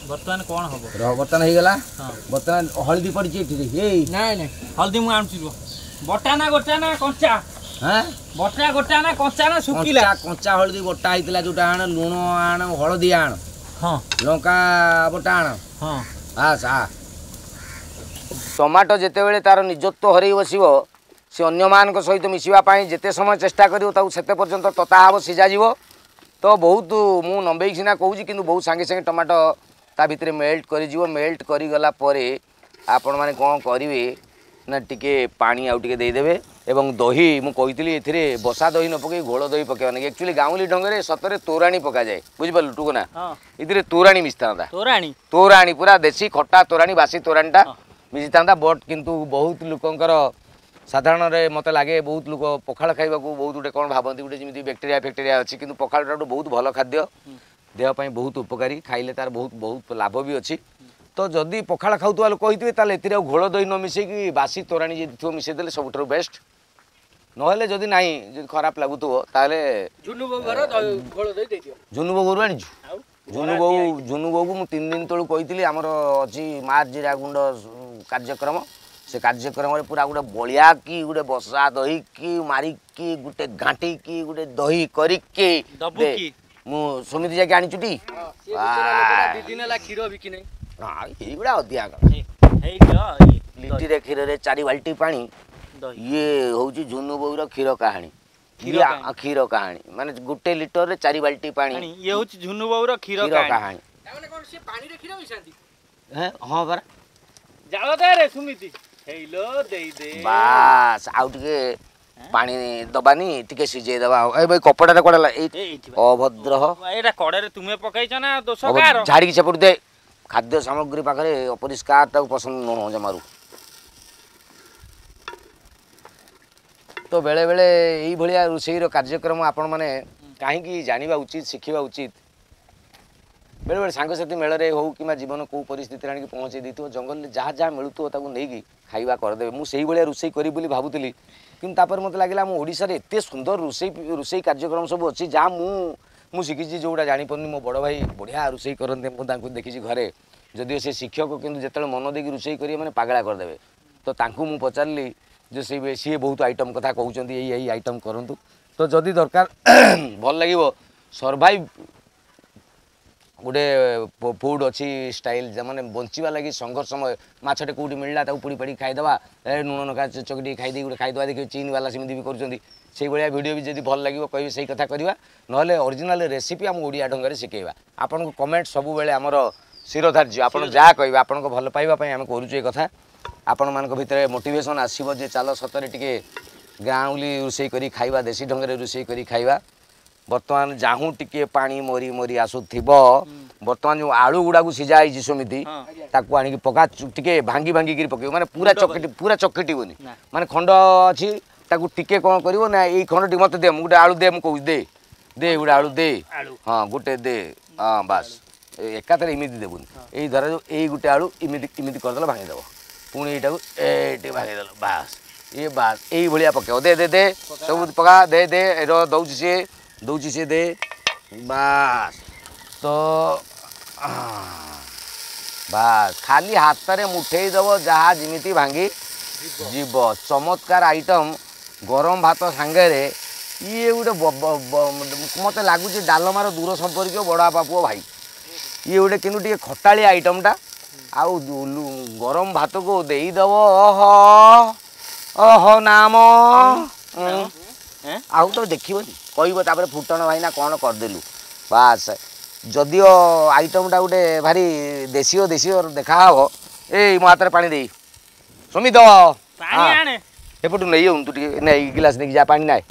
ବର୍ତ୍ତମାନ କ'ଣ ହବ? ରହ, ବର୍ତ୍ତମାନ ହେଇଗଲା। ବର୍ତ୍ତମାନ ହଳଦୀ ପଡ଼ିଛି ଏଠି? ଏଇ ନାଇଁ ନାଇଁ, ହଳଦୀ ମୁଁ ଆଣୁଛି ରୁହ। ବଟା ନା ଗୋଟା ନା କଞ୍ଚା? ହଁ, ବଟା ଗୋଟା ନା କଞ୍ଚା ନା ଶୁଖିଲା? କଞ୍ଚା ହଳଦୀ ବଟା ହେଇଥିଲା ଯୋଉଟା ଆଣ, ଲୁଣ ଆଣ, ହଳଦୀ ଆଣ, ହଁ, ଲଙ୍କା ବଟା ଆଣ। ହଁ, ବାସ୍। ଆ ଟମାଟୋ ଯେତେବେଳେ ତାର ନିଜତ୍ୱ ହରେଇ ବସିବ, ସେ ଅନ୍ୟମାନଙ୍କ ସହିତ ମିଶିବା ପାଇଁ ଯେତେ ସମୟ ଚେଷ୍ଟା କରିବ ତାକୁ ସେତେ ପର୍ଯ୍ୟନ୍ତ ତତା ହେବ, ସିଝାଯିବ ତ ବହୁତ। ମୁଁ ଲମ୍ବେଇକି ସିନା କହୁଛି, କିନ୍ତୁ ବହୁତ ସାଙ୍ଗେ ସାଙ୍ଗେ ଟମାଟୋ ତା ଭିତରେ ମେଲ୍ଟ କରିଯିବ। ମେଲ୍ଟ କରିଗଲା ପରେ ଆପଣମାନେ କ'ଣ କରିବେ ନା ଟିକେ ପାଣି ଆଉ ଟିକେ ଦେଇଦେବେ ଏବଂ ଦହି। ମୁଁ କହିଥିଲି ଏଥିରେ ବସା ଦହି ନ ପକାଇ ଘୋଳ ଦହି ପକାଇବା ନାହିଁ। ଆକ୍ଚୁଆଲି ଗାଉଁଲି ଢଙ୍ଗରେ ସତରେ ତୋରାଣୀ ପକାଯାଏ, ବୁଝିପାରିଲୁ ଟୁକୁନା? ଏଥିରେ ତୋରାଣୀ ମିଶିଥାନ୍ତା, ତୋରାଣୀ, ତୋରାଣୀ ପୁରା ଦେଶୀ ଖଟା ତୋରାଣୀ, ବାସି ତୋରାଣୀଟା ମିଶିଥାନ୍ତା। ବଟ୍ କିନ୍ତୁ ବହୁତ ଲୋକଙ୍କର ସାଧାରଣରେ ମୋତେ ଲାଗେ ବହୁତ ଲୋକ ପଖାଳ ଖାଇବାକୁ ବହୁତ ଗୋଟେ କ'ଣ ଭାବନ୍ତି, ଗୋଟେ ଯେମିତି ବ୍ୟାକ୍ଟେରିଆ ଫ୍ୟାକ୍ଟେରିଆ ଅଛି, କିନ୍ତୁ ପଖାଳଟା ଗୋଟେ ବହୁତ ଭଲ ଖାଦ୍ୟ, ଦେହ ପାଇଁ ବହୁତ ଉପକାରୀ, ଖାଇଲେ ତାର ବହୁତ ବହୁତ ଲାଭ ବି ଅଛି। ତ ଯଦି ପଖାଳ ଖାଉଥିବା ଲୋକ ହେଇଥିବେ ତାହେଲେ ଏଥିରେ ଆଉ ଘୋଳ ଦହି ନ ମିଶେଇକି ବାସି ତୋରାଣୀ ଯଦି ଥିବ ମିଶେଇ ଦେଲେ ସବୁଠାରୁ ବେଷ୍ଟ। ନହେଲେ ଯଦି ନାହିଁ, ଯଦି ଖରାପ ଲାଗୁଥିବ ତାହେଲେ ଝୁନୁ ବୋଉ ଘର ଘୋଳ ଦହି ଦେଇଦିଅ। ଝୁନୁ ବୋଉ ଘରୁ ଆଣିଛୁ? ଆଉ ଝୁନୁ ବୋଉ, ଝୁନୁ ବୋଉକୁ ମୁଁ ତିନି ଦିନ ତଳୁ କହିଥିଲି, ଆମର ଅଛି ମା ଜିରା ଗୁଣ୍ଡ କାର୍ଯ୍ୟକ୍ରମ, ସେ କାର୍ଯ୍ୟକ୍ରମରେ ପୁରା ଗୋଟେ ବଳିଆ କି ଗୋଟେ ବସା ଦହି କି ମାରିକି ଗୋଟେ ଘାଣ୍ଟିକି ଗୋଟେ ଦହି କରିକି ଦବୁ ଦେ। କି? ମୁଁ ସମିତି ଯାଇକି ଆଣିଛୁ ଟି। ସିଏ ବିଚରା ଲୋକଟା ଦି ଦିନ ହେଲା କ୍ଷୀର ବିକି ନାହିଁ। ନା, ଏଇଗୁଡ଼ା ଅଧିକା କଥା। ହେଇ ଦିଅ ଇଏ, ଲିଟିରେ କ୍ଷୀରରେ ଚାରି ବାଲ୍ଟି ପାଣି। ଦହି। ଇଏ ହଉଛି ଝୁନୁ ବୋଉର କ୍ଷୀର କାହାଣୀ। କ୍ଷୀର ଇଏ କାହାଣୀ। କ୍ଷୀର କାହାଣୀ ମାନେ ଗୋଟେ ଲିଟରରେ ଚାରି ବାଲ୍ଟି ପାଣି। ପାଣି। ଇଏ ହଉଛି ଝୁନୁ ବୋଉର କ୍ଷୀର କ୍ଷୀର କାହାଣୀ। କାହାଣୀ। ତାମାନେ କ'ଣ ସିଏ ପାଣିରେ କ୍ଷୀର ମିଶାନ୍ତି? ହେଁ, ହଁ ପରା। ଜାଳ ଦେ ରେ ସୁମିତି, ହେଇଲୋ ଦେଇ ଦେ। ବାସ୍, ଆଉ ଟିକେ ପାଣି ଦବାନି, ଟିକେ ସିଝେଇ ଦବା। ଆଉ ଏ ଭାଇ, କପଡ଼ାଟା କୁଆଡ଼େ ହେଲା ଏଇ? ଏଇଠି ବା। ଅଭଦ୍ର। ଏଇଟା କଡ଼ରେ ତୁମେ ପକେଇଛ ନା, ଦୋଷ ଅଭଦ୍ର, କାହାର? ଝାଡ଼ିକି ସେପଟୁ ଦେ। ଖାଦ୍ୟ ସାମଗ୍ରୀ ପାଖରେ ଅପରିଷ୍କାର ତାକୁ ପସନ୍ଦ ନୁହଁ ଜମାରୁ। ତ ବେଳେବେଳେ ଏଇଭଳିଆ ରୋଷେଇର କାର୍ଯ୍ୟକ୍ରମ ଆପଣମାନେ କାହିଁକି ଜାଣିବା ଉଚିତ, ଶିଖିବା ଉଚିତ। ବେଳେବେଳେ ସାଙ୍ଗସାଥି ମେଳରେ ହଉ କିମ୍ବା ଜୀବନ କେଉଁ ପରିସ୍ଥିତିରେ ଆଣିକି ପହଞ୍ଚେଇ ଦେଇଥିବ, ଜଙ୍ଗଲରେ ଯାହା ଯାହା ମିଳୁଥିବ ତାକୁ ନେଇକି ଖାଇବା କରିଦେବେ। ମୁଁ ସେଇଭଳିଆ ରୋଷେଇ କରିବି ବୋଲି ଭାବୁଥିଲି, କିନ୍ତୁ ତାପରେ ମୋତେ ଲାଗିଲା ଆମ ଓଡ଼ିଶାରେ ଏତେ ସୁନ୍ଦର ରୋଷେଇ ରୋଷେଇ କାର୍ଯ୍ୟକ୍ରମ ସବୁ ଅଛି, ଯାହା ମୁଁ ମୁଁ ଶିଖିଛି, ଯେଉଁଗୁଡ଼ା ଜାଣିପାରୁନି। ମୋ ବଡ଼ ଭାଇ ବଢ଼ିଆ ରୋଷେଇ କରନ୍ତି, ମୁଁ ତାଙ୍କୁ ଦେଖିଛି ଘରେ। ଯଦିଓ ସେ ଶିକ୍ଷକ, କିନ୍ତୁ ଯେତେବେଳେ ମନ ଦେଇକି ରୋଷେଇ କରିବେ ମାନେ ପାଗଳା କରିଦେବେ। ତ ତାଙ୍କୁ ମୁଁ ପଚାରିଲି ଯେ ସେ ସିଏ ବହୁତ ଆଇଟମ୍ କଥା କହୁଛନ୍ତି, ଏଇ ଏଇ ଆଇଟମ୍ କରନ୍ତୁ। ତ ଯଦି ଦରକାର ଭଲ ଲାଗିବ, ସର୍ଭାଇଭ୍ ଗୋଟେ ଫୁଡ଼୍ ଅଛି ଷ୍ଟାଇଲ୍, ମାନେ ବଞ୍ଚିବା ଲାଗି ସଂଘର୍ଷମୟ। ମାଛଟେ କେଉଁଠି ମିଳିଲା ତାକୁ ପୋଡ଼ି ପାଡ଼ି ଖାଇଦେବା, ଏ ଲୁଣ ଲଙ୍କା ଚକଟି ଖାଇଦେଇ ଗୋଟେ ଖାଇଦେବା। ଦେଖିବେ ଚୀନ ବାଲା ସେମିତି ବି କରୁଛନ୍ତି। ସେଇଭଳିଆ ଭିଡ଼ିଓ ବି ଯଦି ଭଲ ଲାଗିବ କହିବେ, ସେଇ କଥା କରିବା। ନହେଲେ ଅରିଜିନାଲ୍ ରେସିପି ଆମ ଓଡ଼ିଆ ଢଙ୍ଗରେ ଶିଖେଇବା। ଆପଣଙ୍କ କମେଣ୍ଟ ସବୁବେଳେ ଆମର ଶିରୋଧାର୍ଯ୍ୟ। ଆପଣ ଯାହା କହିବେ, ଆପଣଙ୍କ ଭଲ ପାଇବା ପାଇଁ ଆମେ କରୁଛୁ ଏ କଥା। ଆପଣମାନଙ୍କ ଭିତରେ ମୋଟିଭେସନ୍ ଆସିବ ଯେ ଚାଲ ସତରେ ଟିକେ ଗାଉଁଲି ରୋଷେଇ କରି ଖାଇବା, ଦେଶୀ ଢଙ୍ଗରେ ରୋଷେଇ କରି ଖାଇବା। ବର୍ତ୍ତମାନ ଯାହୁଁ ଟିକେ ପାଣି ମରି ମରି ଆସୁଥିବ, ବର୍ତ୍ତମାନ ଯେଉଁ ଆଳୁ ଗୁଡ଼ାକୁ ସିଝା ହେଇଛି ସେମିତି ହଁ। ତାକୁ ଆଣିକି ପକା। ଚୁ- ଟିକେ ଭାଙ୍ଗି ଭାଙ୍ଗିକିରି ପକେଇବ, ମାନେ ପୁରା ଚକଟି ପୁରା ଚକଟିବନି। ନା। ମାନେ ଖଣ୍ଡ ଅଛି, ତାକୁ ଟିକେ କ'ଣ କରିବ ନା, ଏଇ ଖଣ୍ଡ ଟିକେ ମୋତେ ଦେ, ମୁଁ ଗୋଟେ ଆଳୁ ଦେ, ମୁଁ କହୁଛି ଦେ ଦେ ଗୋଟେ ଆଳୁ ଦେ। ଆଳୁ। ହଁ, ଗୋଟେ ଦେ। ହଁ ବାସ୍, ଏ ଏକାଥରେ ଏମିତି ଦେବୁନି। ଏଇ ଧର ଯୋଉ ଏଇ ଗୋଟେ ଆଳୁ ଏମିତି ଏମିତି କରିଦେଲ, ଭାଙ୍ଗିଦେବ। ପୁଣି ଏଇଟାକୁ ଏଇଠି ଭାଙ୍ଗିଦେଲ, ବାସ୍। ଇଏ ବାସ୍ ଏଇଭଳିଆ ପକେଇବ। ଦେ ଦେ ଦେ, ସବୁ ପକା, ଦେ ଦେ। ଏ ର, ଦଉଛି ସିଏ, ଦଉଛି ସିଏ, ଦେ ବାସ୍। ତ ବାସ୍, ଖାଲି ହାତରେ ମୁଠେଇ ଦେବ, ଯାହା ଯେମିତି ଭାଙ୍ଗି ଯିବ। ଚମତ୍କାର ଆଇଟମ୍ ଗରମ ଭାତ ସାଙ୍ଗରେ। ଇଏ ଗୋଟେ ବ- ବ- ବ- ମୋତେ ଲାଗୁଛି ଡାଲମାର ଦୂର ସମ୍ପର୍କୀୟ ବଡ଼ ବାପା ପୁଅ ଭାଇ ଇଏ ଗୋଟେ, କିନ୍ତୁ ଟିକେ ଖଟାଳିଆ ଆଇଟମ୍ଟା। ଆଉ ଦୁ- ଲୁ- ଗରମ ଭାତକୁ ଦେଇଦେବ, ଅହ ଅହ ନାମ ଉଁ। ହେଁ? ଆଉ ତ ଦେଖିବନି, କହିବ ତାପରେ ଫୁଟଣ ଭାଇନା କ'ଣ କରିଦେଲୁ। ବାସ୍, ଯଦିଓ ଆଇଟମ୍ଟା ଗୋଟେ ଭାରି ଦେଶୀୟ ଦେଶୀୟ ଦେଖାହବ। ଏଇ ମୋ ହାତରେ ପାଣି ଦେଇ ସୁମିତ। ପାଣି ହଁ। ଆଣେ। ଏପଟୁ ନେଇ ତୁ ଟିକେ ନେଇ ଗିଲାସ ନେଇକି ଯା, ପାଣି ନାଇଁ।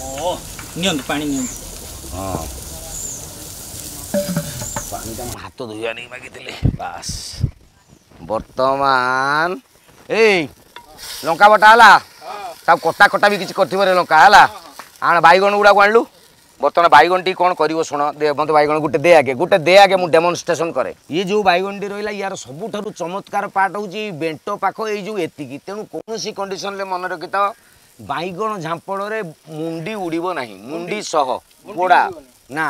ଓ ନିଅନ୍ତୁ, ପାଣି ନିଅନ୍ତୁ। ହଁ, ପାଣିଟା ମୁଁ ହାତ ଧୋଇବା ନେଇ ମାଗିଥିଲି। ବାସ୍, ବର୍ତ୍ତମାନ ଏଇ ଲଙ୍କା ବଟା ହେଲା, ତାକୁ କଟା କଟା ବି କିଛି କରିଥିବ ରେ ଲଙ୍କା ହେଲା। ଆଣ ବାଇଗଣ ଗୁଡ଼ାକୁ ଆଣିଲୁ। ବର୍ତ୍ତମାନ ବାଇଗଣଟି କ'ଣ କରିବ ଶୁଣ। ଦେ ମୋତେ ବାଇଗଣ ଗୋଟେ ଦେ ଆଗେ, ଗୋଟେ ଦେ ଆଗେ, ମୁଁ ଡେମନଷ୍ଟ୍ରେସନ୍ କରେ। ଇଏ ଯେଉଁ ବାଇଗଣଟି ରହିଲା, ୟାର ସବୁଠାରୁ ଚମତ୍କାର ପାର୍ଟ ହେଉଛି ଏଇ ବେଣ୍ଟ ପାଖ ଏଇ ଯେଉଁ ଏତିକି। ତେଣୁ କୌଣସି କଣ୍ଡିସନରେ ମନେ ରଖିଥାଅ, ବାଇଗଣ ଝାମ୍ପଡ଼ରେ ମୁଣ୍ଡି ଉଡ଼ିବ ନାହିଁ, ମୁଣ୍ଡି ସହ ପୋଡ଼ା ନା।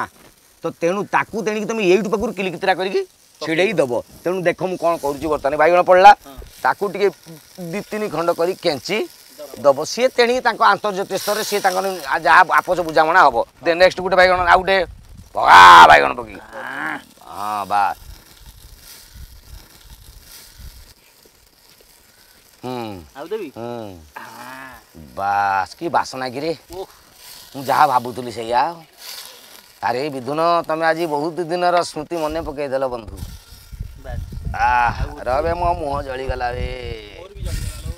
ତ ତେଣୁ ତାକୁ ତେଣିକି ତମେ ଏଇଠୁ ପାଖରୁ କିଲିକିତିରା କରିକି ଛିଡ଼େଇ ଦେବ। ତେଣୁ ଦେଖ ମୁଁ କ'ଣ କରୁଛି। ବର୍ତ୍ତମାନ ବାଇଗଣ ପଡ଼ିଲା, ତାକୁ ଟିକେ ଦୁଇ ତିନି ଖଣ୍ଡ କରି କେଞ୍ଚି ଦବ। ସିଏ ତେଣିକି ତାଙ୍କ ଆନ୍ତର୍ଜାତୀୟ ସ୍ତରରେ ସିଏ ତାଙ୍କର ଯାହା ଆପୋଷ ବୁଝାମଣା ହବ। ଦେ ନେକ୍ସଟ ଗୋଟେ ବାଇଗଣ, ଆଉ ଗୋଟେ ପକା ବାଇଗଣ ପକେଇ। ହଁ ବାସ୍, ହୁଁ। ଆଉ ଦେବି? ହୁଁ, ବାସ୍। କି ବାସନା କିରେ! ଓଃ। ମୁଁ ଯାହା ଭାବୁଥିଲି ସେଇଆ। ଆରେ ବିଧୁନ, ତମେ ଆଜି ବହୁତ ଦିନର ସ୍ମୃତି ମନେ ପକେଇଦେଲ ବନ୍ଧୁ। ବାସ୍। ଆহ, ରବେ, ମୋ ମୁହଁ ଜଳିଗଲା ରେ। ମୋର ବି ଜଳିଗଲା ଲୋ।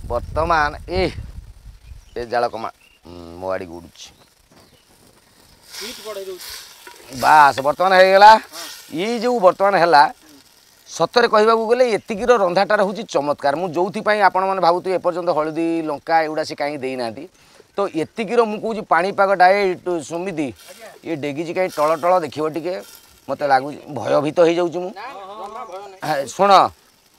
ବର୍ତ୍ତମାନ ଏ ଏ ଜାଳ କମା, ହୁଁ, ମୋ ଆଡ଼ିକୁ ଉଡୁଛି। ହିଟ୍ ବଢେଇ ଦଉଛି। ବାସ୍, ବର୍ତ୍ତମାନ ହେଇଗଲା। ଇଏ ଯେଉଁ ବର୍ତ୍ତମାନ ହେଲା ସତରେ କହିବାକୁ ଗଲେ ଏତିକିର ରନ୍ଧାଟା ରହୁଛି ଚମତ୍କାର। ମୁଁ ଯେଉଁଥିପାଇଁ ଆପଣମାନେ ଭାବୁଥିବେ ଏପର୍ଯ୍ୟନ୍ତ ହଳଦୀ ଲଙ୍କା ଏଗୁଡ଼ା ସେ କାହିଁକି ଦେଇନାହାନ୍ତି, ତ ଏତିକିର ମୁଁ କହୁଛି ପାଣିପାଗଟା। ଏ ସୁମିତି, ଇଏ ଡେଗିଛି କାହିଁ ଟଳ ଟଳ ଦେଖିବ ଟିକେ, ମୋତେ ଲାଗୁଛି ଭୟଭୀତ ହେଇଯାଉଛି ମୁଁ। ଶୁଣ,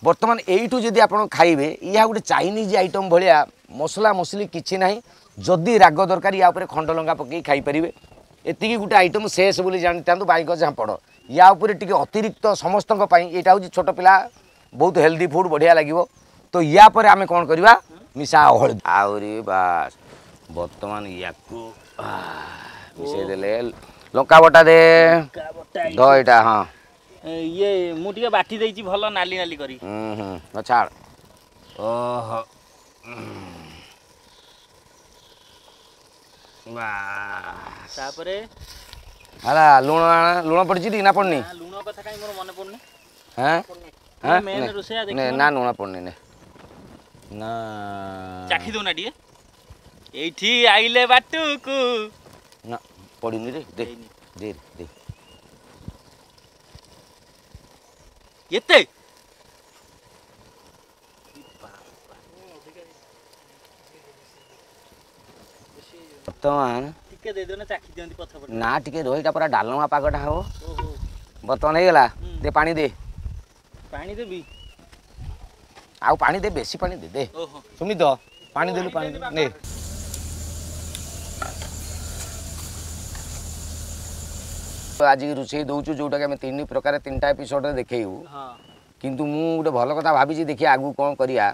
ବର୍ତ୍ତମାନ ଏଇଠୁ ଯଦି ଆପଣ ଖାଇବେ, ଇହା ଗୋଟେ ଚାଇନିଜ୍ ଆଇଟମ୍ ଭଳିଆ, ମସଲା ମସଲି କିଛି ନାହିଁ। ଯଦି ରାଗ ଦରକାର ୟା ଉପରେ ଖଣ୍ଡ ଲଙ୍କା ପକେଇ ଖାଇପାରିବେ। ଏତିକି ଗୋଟେ ଆଇଟମ୍ ଶେଷ ବୋଲି ଜାଣିଥାନ୍ତୁ, ବାଇଗଣ ଝାମ୍ପଡ଼। ୟା ଉପରେ ଟିକେ ଅତିରିକ୍ତ ସମସ୍ତଙ୍କ ପାଇଁ, ଏଇଟା ହେଉଛି ଛୋଟ ପିଲା ବହୁତ ହେଲ୍ଦି ଫୁଡ଼୍, ବଢ଼ିଆ ଲାଗିବ। ତ ୟା ପରେ ଆମେ କ'ଣ କରିବା, ମିଶା ହଳଦୀ ଆହୁରି, ବାସ୍। ବର୍ତ୍ତମାନ ୟାକୁ ମିଶେଇ ଦେଲେ, ଲଙ୍କା ବଟା ଦେ ଧ ଏଇଟା। ହଁ, ଇଏ ମୁଁ ଟିକେ ବାଟି ଦେଇଛି ଭଲ ନାଲି ନାଲି କରି। ହୁଁ ହୁଁ, ଛାଡ଼। ଓହୋ, ତାପରେ ହେଲା ଲୁଣ। ଲୁଣ ପଡ଼ିଛି ନା ପଡ଼ିନି? ଲୁଣ କଥା କାହିଁ ମୋର ମନେ ପଡ଼ୁନି। ହଁ, ନା ଲୁଣ ପଡ଼ୁନି। ନେ ନା, ଚାଖି ଦଉନା ଟିକେ। ଏଇଠି ଆଇଲେ ବାଟୁକୁ ନା ପଡ଼ିନି ରେ, ଦେ ଦେ ଦେ। ଏତେ ବର୍ତ୍ତମାନ ଟିକେ ଦେଇଦିଅ ନା, ଚାଖି ଦିଅନ୍ତି ପଛ ପଟେ। ନା, ଟିକେ ରହିଟା ପୁରା ଡାଲମା ପାଗଟା ହବ। ବର୍ତ୍ତମାନ ହେଇଗଲା, ଦେ ପାଣି ଦେ। ପାଣି ଦେବି? ଆଉ ପାଣି ଦେ, ବେଶୀ ପାଣି ଦେ। ଦେ ସୁମିତ, ପାଣି ଦେଲୁ? ପାଣି ନେ। ଆଜି ରୋଷେଇ ଦେଉଛୁ ଯେଉଁଟାକି ଆମେ ତିନି ପ୍ରକାର ତିନିଟା ଏପିସୋଡ଼ରେ ଦେଖେଇବୁ। କିନ୍ତୁ ମୁଁ ଗୋଟେ ଭଲ କଥା ଭାବିଛି, ଦେଖିବା ଆଗକୁ କ'ଣ କରିବା।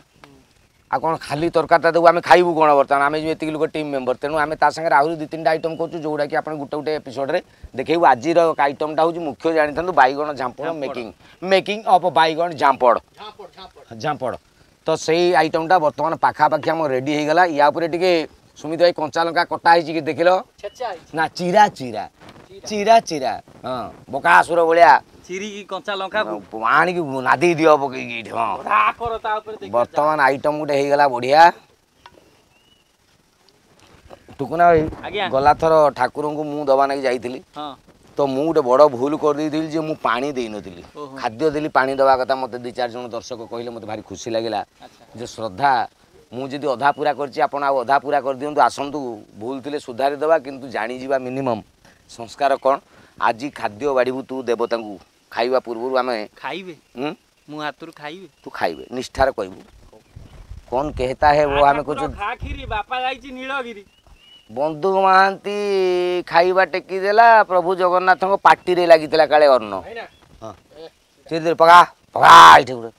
ଆଉ କ'ଣ ଖାଲି ତରକାରୀଟା ଦେବୁ, ଆମେ ଖାଇବୁ କ'ଣ? ବର୍ତ୍ତମାନ ଆମେ ଯେଉଁ ଏତିକି ଲୋକ ଟିମ୍ ମେମ୍ବର, ତେଣୁ ଆମେ ତା ସାଙ୍ଗରେ ଆହୁରି ଦୁଇ ତିନିଟା ଆଇଟମ୍ କରୁଛୁ ଯେଉଁଟାକି ଆପଣ ଗୋଟେ ଗୋଟେ ଏପିସୋଡ଼ରେ ଦେଖେଇବୁ। ଆଜିର ଆଇଟମ୍ଟା ହେଉଛି ମୁଖ୍ୟ ଜାଣିଥାନ୍ତୁ, ବାଇଗଣ ଝାମ୍ପଡ଼, ମେକିଂ ମେକିଂ ଅଫ୍ ବାଇଗଣ ଝାମ୍ପଡ଼ ଝାମ୍ପଡ଼। ତ ସେଇ ଆଇଟମ୍ଟା ବର୍ତ୍ତମାନ ପାଖାପାଖି ଆମ ରେଡ଼ି ହେଇଗଲା। ୟା ଉପରେ ଟିକେ ସୁମିତ ଭାଇ କଞ୍ଚା ଲଙ୍କା କଟା ହେଇଛି କି ଦେଖିଲ ନା? ଚିରା ଚିରା ଚିରା ଚିରା, ହଁ, ବକାସୁର ଭଳିଆ ଚିରିକି କଞ୍ଚା ଲଙ୍କା ଆଣିକି ନାଦି ଦିଅ ପକେଇକି ଏଇଠି। ହଁ, ବର୍ତ୍ତମାନ ଆଇଟମ୍ ଗୋଟେ ହେଇଗଲା ବଢ଼ିଆ। ଟୁକୁନା ଭାଇ, ଗଲା ଥର ଠାକୁରଙ୍କୁ ମୁଁ ଦବା ନାଗି ଯାଇଥିଲି, ତ ମୁଁ ଗୋଟେ ବଡ଼ ଭୁଲ କରିଦେଇଥିଲି ଯେ ମୁଁ ପାଣି ଦେଇନଥିଲି, ଖାଦ୍ୟ ଦେଲି, ପାଣି ଦେବା କଥା। ମୋତେ ଦୁଇ ଚାରି ଜଣ ଦର୍ଶକ କହିଲେ, ମୋତେ ଭାରି ଖୁସି ଲାଗିଲା ଯେ ଶ୍ରଦ୍ଧା। ମୁଁ ଯଦି ଅଧା ପୁରା କରିଛି, ଆପଣ ଆଉ ଅଧା ପୁରା କରିଦିଅନ୍ତୁ। ଆସନ୍ତୁ, ଭୁଲ ଥିଲେ ସୁଧାରି ଦେବା, କିନ୍ତୁ ଜାଣିଯିବା ମିନିମମ୍ ସଂସ୍କାର କ'ଣ। ଆଜି ଖାଦ୍ୟ ବାଢ଼ିବୁ ତୁ ଦେବତାଙ୍କୁ, ଖାଇବା ପୂର୍ବରୁ ଆମେ ଖାଇବେ। ମୁଁ ହାତରୁ ଖାଇବେ? ତୁ ଖାଇବେ, ନିଷ୍ଠାରେ କହିବୁ। କଣ କହେତା ହେ वो ଆମେ କହୁଛୁ ବାପା ଯାଇଛି ନୀଳଗିରି। ବନ୍ଧୁ ମହାନ୍ତି ଖାଇବା ଟେକି ଦେଲା, ପ୍ରଭୁ ଜଗନ୍ନାଥଙ୍କ ପାଟିରେ ଲାଗିଥିଲା କାଳେ ଅନ୍ନ। ହଁ, ପକା ପକା ଏଇଠି ଗୋଟେ।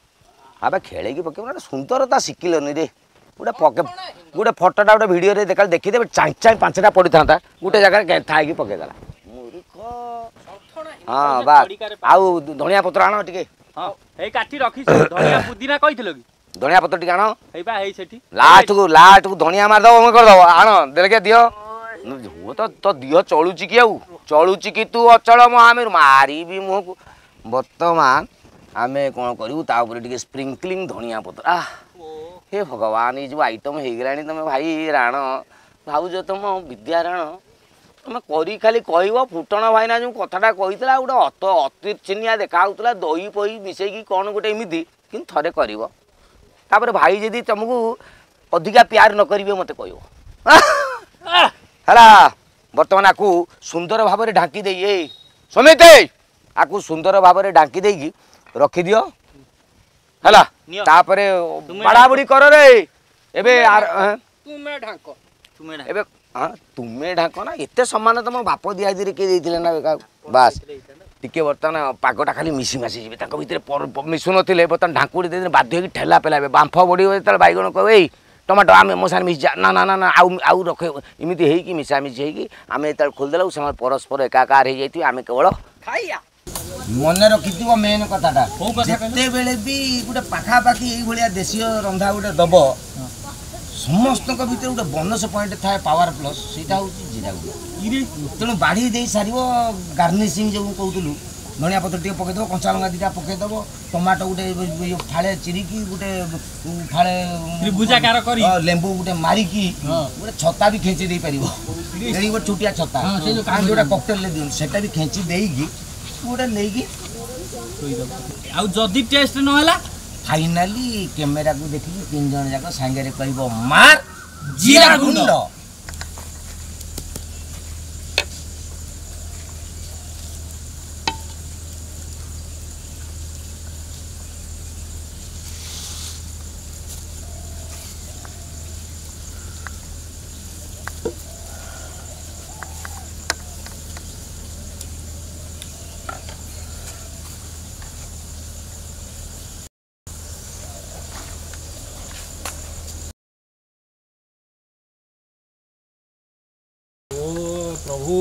ଆବେ ଖେଳେଇକି ପକେଇବୁ ନା, ସୁନ୍ଦରତା ଶିଖିଲନି ରେ। ଗୋଟେ ପକେ ଗୋଟେ ଫଟୋଟା ଗୋଟେ ଭିଡ଼ିଓରେ ଦେଖା ଦେଖିଦେବେ, ଚାଇଁ ଚାଇଁ ପାଞ୍ଚଟା ପଡ଼ିଥାନ୍ତା, ଗୋଟେ ଜାଗାରେ ଗେନ୍ଥା ହେଇକି ପକେଇଦେଲା ମୂର୍ଖ। ହଁ ବାସ୍, ଆଉ ଧଣିଆ ପତ୍ର ଆଣ ଟିକେ। ହଁ, ଏଇ କାଠି ରଖିଛୁ, ଧଣିଆ ପୁଦିନା କହିଥିଲ କି? ଧଣିଆ ପତ୍ର ଟିକେ ଆଣ। ହେଇ ବା, ହେଇ ସେଠି। ଲାଷ୍ଟକୁ ଲାଷ୍ଟକୁ ଧଣିଆ ମାରିଦବ, ମୁଁ କରିଦବ। ଆଣ ଦେଲେ ଦିଅ ତ ତୋ ଦିହ ଚଳୁଛି କି? ଆଉ ଚଳୁଛି କି ତୁ? ଅଚଳ ମହାମେରୁ ମାରିବି ମୁହଁକୁ। ବର୍ତ୍ତମାନ ଆମେ କ'ଣ କରିବୁ, ତା ଉପରେ ଟିକେ ସ୍ପ୍ରିଙ୍କଲିଂ ଧଣିଆ ପତ୍ର। ଆহ ହେ ଭଗବାନ, ଏଇ ଯେଉଁ ଆଇଟମ୍ ହେଇଗଲାଣି। ତମେ ଭାଇ ରାଣ ଭାଉଜ, ତମ ବିଦ୍ୟା ରାଣ, ତମେ କରି ଖାଲି କହିବ। ଫୁଟଣ ଭାଇନା ଯେଉଁ କଥାଟା କହିଥିଲା, ଗୋଟେ ଅତ ଅତି ଚିନିଆ ଦେଖା ହେଉଥିଲା, ଦହି ଫହି ମିଶେଇକି କ'ଣ ଗୋଟେ ଏମିତି। କିନ୍ତୁ ଥରେ କରିବ, ତାପରେ ଭାଇ ଯଦି ତମକୁ ଅଧିକା ପ୍ୟାର ନ କରିବେ ମୋତେ କହିବ ହେଲା। ବର୍ତ୍ତମାନ ଆକୁ ସୁନ୍ଦର ଭାବରେ ଢାଙ୍କି ଦେଇ, ଏଇ ସମିତେ, ଆକୁ ସୁନ୍ଦର ଭାବରେ ଢାଙ୍କି ଦେଇକି ରଖିଦିଅ ହେଲା। ତାପରେ ବାଡ଼ାବୁଡ଼ି କର ରେ ଏବେ। ତୁମେ ଢାଙ୍କ, ଏବେ ହଁ ତୁମେ ଢାଙ୍କ ନା, ଏତେ ସମ୍ମାନ ତମ ବାପ ଦିଆଦିରେ କିଏ ଦେଇଥିଲେ ନା କାହାକୁ? ବାସ୍, ଟିକେ ବର୍ତ୍ତମାନ ପାଗଟା ଖାଲି ମିଶି ମାସି ଯିବେ ତାଙ୍କ ଭିତରେ, ମିଶୁନଥିଲେ ବର୍ତ୍ତମାନ ଢାଙ୍କୁଡ଼ି ଦେଇଦେଲେ ବାଧ୍ୟ ହେଇକି ଠେଲା ପେଲା ହେବେ। ବାମ୍ଫ ବଢ଼ିବ ଯେତେବେଳେ, ବାଇଗଣ କହିବେ ଏଇ ଟମାଟୋ ଆମେ ମୋ ସାଙ୍ଗରେ ମିଶିଯା, ନା ନା ନା ନା ଆଉ ଆଉ ରଖେ। ଏମିତି ହେଇକି ମିଶାମିଶି ହେଇକି ଆମେ ଯେତେବେଳେ ଖୋଲିଦେଲାକୁ ସେମାନେ ପରସ୍ପର ଏକାକାର ହେଇଯାଇଥିବେ, ଆମେ କେବଳ ଖାଇବା। ମନେ ରଖିଥିବ ମେନ୍ କଥାଟା, ଯେତେବେଳେ ବି ଗୋଟେ ପାଖାପାଖି ଏଇଭଳିଆ ଦେଶୀୟ ରନ୍ଧା ଗୋଟେ ଦବ, ସମସ୍ତଙ୍କ ଭିତରେ ଗୋଟେ ବୋନସ୍ ପଏଣ୍ଟ ଥାଏ, ପାୱାର ପ୍ଲସ୍, ସେଇଟା ହେଉଛି ଜିରା ଗୁଣ୍ଡ। ତେଣୁ ବାଢ଼ି ଦେଇ ସାରିବ, ଗାର୍ନିସିଂ ଯେଉଁ କହୁଥିଲୁ, ଧଣିଆ ପତ୍ର ଟିକେ ପକେଇଦେବ, କଞ୍ଚା ଲଙ୍କା ଦୁଇଟା ପକେଇଦେବ, ଟମାଟୋ ଗୋଟେ ଫାଳେ ଚିରିକି, ଗୋଟେ ଫାଳେ ତ୍ରିଭୁଜାକାର କରି, ଲେମ୍ବୁ ଗୋଟେ ମାରିକି, ଗୋଟେ ଛତା ବି ଖେଞ୍ଚି ଦେଇପାରିବ। ଏଠି ଗୋଟେ ଛୋଟିଆ ଛତା ଯୋଉଟା କକଟେଲରେ ଦିଅନ୍ତି, ସେଟା ବି ଖେଞ୍ଚି ଦେଇକି ଗୋଟେ ନେଇକି ଥୋଇଦେବ। ଆଉ ଯଦି ଟେଷ୍ଟ ନହେଲା ଫାଇନାଲି କ୍ୟାମେରାକୁ ଦେଖିକି ତିନି ଜଣ ଯାକ ସାଙ୍ଗରେ କହିବ ମାର ଜିରା ଗୁଣ୍ଡ। ଓ ପ୍ରଭୁ,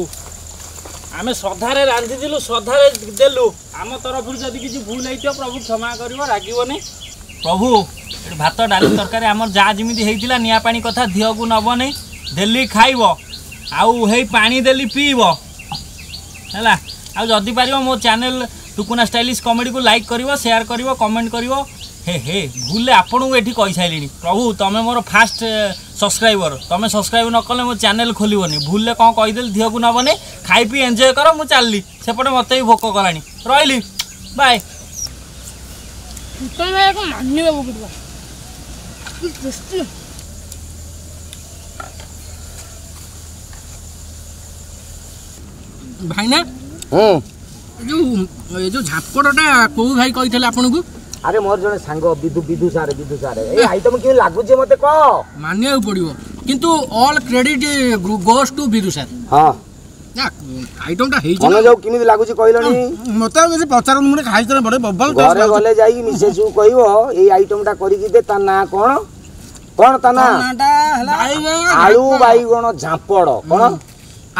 ଆମେ ଶ୍ରଦ୍ଧାରେ ରାନ୍ଧିଥିଲୁ, ଶ୍ରଦ୍ଧାରେ ଦେଲୁ। ଆମ ତରଫରୁ ଯଦି କିଛି ଭୁଲ ହେଇଥିବ ପ୍ରଭୁ କ୍ଷମା କରିବ, ରାଗିବନି ପ୍ରଭୁ। ଏଠି ଭାତ ଡାଲି ତରକାରୀ ଆମର ଯାହା ଯେମିତି ହେଇଥିଲା, ନିଆଁ ପାଣି କଥା ଧିଅକୁ ନବନି, ଡେଲି ଖାଇବ ଆଉ ହେଇ ପାଣି ଦେଲି ପିଇବ ହେଲା। ଆଉ ଯଦି ପାରିବ ମୋ ଚ୍ୟାନେଲ୍ ଟୁକୁନା ଷ୍ଟାଇଲିଶ କମେଡ଼ିକୁ ଲାଇକ୍ କରିବ, ସେୟାର କରିବ, କମେଣ୍ଟ କରିବ। ହେ ହେ, ଭୁଲରେ ଆପଣଙ୍କୁ ଏଠି କହିସାରିଲିଣି। ପ୍ରଭୁ ତମେ ମୋର ଫାଷ୍ଟ ସବସ୍କ୍ରାଇବର, ତମେ ସବସ୍କ୍ରାଇବ୍ ନ କଲେ ମୋ ଚ୍ୟାନେଲ୍ ଖୋଲିବନି। ଭୁଲରେ କ'ଣ କହିଦେଲି ଧିଅକୁ ନବନି, ଖାଇ ପିଇ ଏନ୍ଜୟ କର। ମୁଁ ଚାଲିଲି ସେପଟେ, ମୋତେ ବି ଭୋକ କଲାଣି। ରହିଲି, ବାଏ। ଫୁଟଣ ଭାଇକୁ ମାନିବାକୁ ପଡ଼ିବ, କି ଟେଷ୍ଟି। ଭାଇନା, ହୁଁ ଏ ଯୋଉ ଏ ଯୋଉ ଝାପଡ଼ଟା କୋଉ ଭାଇ କହିଥିଲେ ଆପଣଙ୍କୁ? ଆରେ ମୋର ଜଣେ ସାଙ୍ଗ ବିଦୁ, ବିଦୁ ସାର୍, ବିଦୁ ସାର୍। ଏଇ ଆଇଟମ କେମିତି ଲାଗୁଛି ମତେ କହ। ମାନିବାକୁ ପଡ଼ିବ କିନ୍ତୁ, all credit goes to Bidu sir. ହଁ ନା, ଆଇଟମଟା ହେଇଛି। ମନେ ଯାଉ କେମିତି ଲାଗୁଛି କହିଲଣି? ମତେ ଆଉ କିଛି ପଚାରନ୍ତୁ, ମୁଁ ଖାଇଥିଲେ ବଡ ବବଲ। ଘରେ ଗଲେ ଯାଇକି ମିସେସକୁ କହିବ ଏଇ ଆଇଟମଟା କରିକି ଦେ। ତା ନାଁ କଣ? କଣ ତା ନାଁ? ନାଁଟା ହେଲା ଆଳୁ ବାଇଗଣ ଝାମ୍ପଡ଼। କଣ?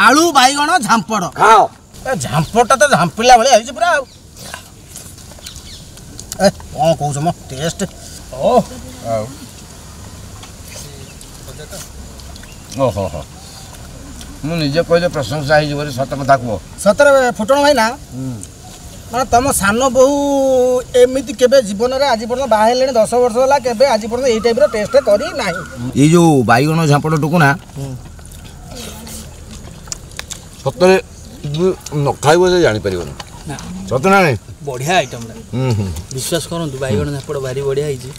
ଆଳୁ ବାଇଗଣ ଝାମ୍ପଡ଼। ଖାଅ। ଏ ଝାମ୍ପଡ଼ଟା ତ ଝାମ୍ପିଲା ଭଳିଆ ହେଇଛି ପୁରା। ଆଉ ଏ କଣ କହୁଛ ମ, ଟେଷ୍ଟ। ଓ ଆଉ ଓହୋ ହୋ, ମୁଁ ନିଜେ କହିଲେ ପ୍ରଶଂସା ହେଇଯିବ ରେ। ସତ କଥା କୁହ। ସତରେ ଫୁଟଣ ଭାଇନା, ମାନେ ତମ ସାନ ବୋହୂ ଏମିତି କେବେ ଜୀବନରେ, ଆଜି ପର୍ଯ୍ୟନ୍ତ ବାହା ହେଲେଣି ଦଶ ବର୍ଷ ହେଲା, କେବେ ଆଜି ପର୍ଯ୍ୟନ୍ତ ଏଇ ଟାଇପ୍ର ଟେଷ୍ଟ କରି ନାହିଁ। ଏଇ ଯୋଉ ବାଇଗଣ ଝାମ୍ପଡ଼ ଟୁକୁନା, ସତରେ ନ ଖାଇବ ସେ ଜାଣିପାରିବନି। ସତ ନା ନାଇଁ? ବଢ଼ିଆ ଆଇଟମଟା, ବିଶ୍ୱାସ କରନ୍ତୁ, ବାଇଗଣ ଝାପଡ଼ ଭାରି ବଢ଼ିଆ ହେଇଛି।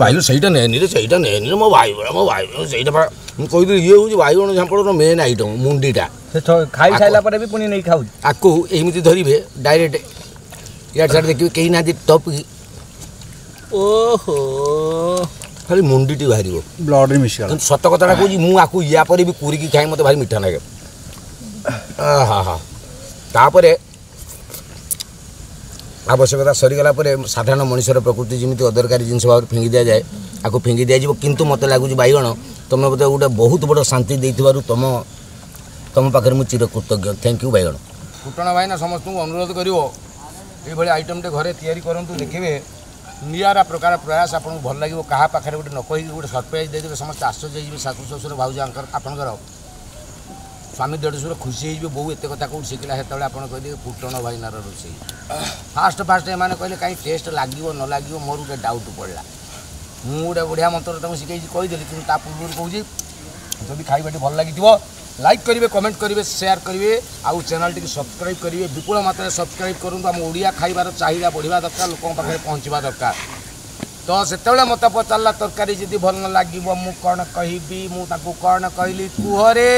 ଭାଇ ସେଇଟା ନେନି ରେ, ସେଇଟା ନେନି ରେ, ମୋ ଭାଇ, ମୋ ଭାଇ ସେଇଟା ମୁଁ କହିଥିଲି। ଇଏ ହେଉଛି ବାଇଗଣ ଝାମ୍ପଡ଼ର ମେନ୍ ଆଇଟମ୍, ମୁଣ୍ଡିଟା। ସେ ଖାଇ ସାରିଲା ପରେ ବି ପୁଣି ନେଇ ଖାଉଛି। ଆକୁ ଏମିତି ଧରିବେ ଡାଇରେକ୍ଟ, ଇଆଡ଼େ ସିଆଡ଼େ ଦେଖିବେ କେହି ନାହାନ୍ତି, ଟପ୍। ଓହୋ, ଖାଲି ମୁଣ୍ଡିଟି ବାହାରିବ, ବ୍ଲଡ଼ରେ ମିଶିଗଲା। କିନ୍ତୁ ସତ କଥାଟା କହୁଛି, ମୁଁ ଆକୁ ୟା ପରେ ବି କୁରିକି ଖାଇ ମୋତେ ଭାରି ମିଠା ଲାଗେ। ହଁ ହଁ, ତାପରେ ଆବଶ୍ୟକତା ସରିଗଲା ପରେ ସାଧାରଣ ମଣିଷର ପ୍ରକୃତି ଯେମିତି ଅଦରକାରୀ ଜିନିଷ ଭାବରେ ଫିଙ୍ଗି ଦିଆଯାଏ, ଆକୁ ଫିଙ୍ଗି ଦିଆଯିବ। କିନ୍ତୁ ମୋତେ ଲାଗୁଛି ବାଇଗଣ, ତୁମେ ମୋତେ ଗୋଟେ ବହୁତ ବଡ଼ ଶାନ୍ତି ଦେଇଥିବାରୁ ତୁମ ତୁମ ପାଖରେ ମୁଁ ଚିରକୃତଜ୍ଞ। Thank you ବାଇଗଣ। ଫୁଟଣ ଭାଇନା ସମସ୍ତଙ୍କୁ ଅନୁରୋଧ କରିବ, ଏଇଭଳି ଆଇଟମ୍ଟେ ଘରେ ତିଆରି କରନ୍ତୁ, ଦେଖିବେ ନିଆରା ପ୍ରକାର ପ୍ରୟାସ, ଆପଣଙ୍କୁ ଭଲ ଲାଗିବ। କାହା ପାଖରେ ଗୋଟେ ନ କହିକି ଗୋଟେ ସରପ୍ରାଇଜ୍ ଦେଇଦେବେ, ସମସ୍ତେ ଆଶ୍ଚର୍ଯ୍ୟ ହେଇଯିବେ। ଶାଶୁ ଶ୍ୱଶୁର ଭାଉଜ ଆପଣଙ୍କର ସ୍ୱାମୀ ଦେଢ଼ଶୁର ଖୁସି ହେଇଯିବେ, ବୋଉ ଏତେ କଥା କେଉଁଠି ଶିଖିଲା? ସେତେବେଳେ ଆପଣ କହିଦେବେ ଫୁଟଣ ଭାଇନାର ରୋଷେଇ। ଫାଷ୍ଟ ଫାଷ୍ଟ ଏମାନେ କହିଲେ କାହିଁ ଟେଷ୍ଟ ଲାଗିବ ନ ଲାଗିବ, ମୋର ଗୋଟେ ଡାଉଟ୍ ପଡ଼ିଲା। ମୁଁ ଗୋଟେ ବଢ଼ିଆ ମନ୍ତ୍ର ତାଙ୍କୁ ଶିଖେଇଛି, କହିଦେଲି। କିନ୍ତୁ ତା ପୂର୍ବରୁ କହୁଛି, ଯଦି ଖାଇବାଟି ଭଲ ଲାଗିଥିବ ଲାଇକ୍ କରିବେ, କମେଣ୍ଟ କରିବେ, ସେୟାର କରିବେ ଆଉ ଚ୍ୟାନେଲ୍ଟିକୁ ସବସ୍କ୍ରାଇବ୍ କରିବେ। ବିପୁଳ ମାତ୍ରାରେ ସବସ୍କ୍ରାଇବ୍ କରନ୍ତୁ। ଆମ ଓଡ଼ିଆ ଖାଇବାର ଚାହିଦା ବଢ଼ିବା ଦରକାର, ଲୋକଙ୍କ ପାଖରେ ପହଞ୍ଚିବା ଦରକାର। ତ ସେତେବେଳେ ମୋତେ ପଚାରିଲା ତରକାରୀ ଯଦି ଭଲ ନ ଲାଗିବ ମୁଁ କ'ଣ କହିବି? ମୁଁ ତାକୁ କ'ଣ କହିଲି କୁହରେ?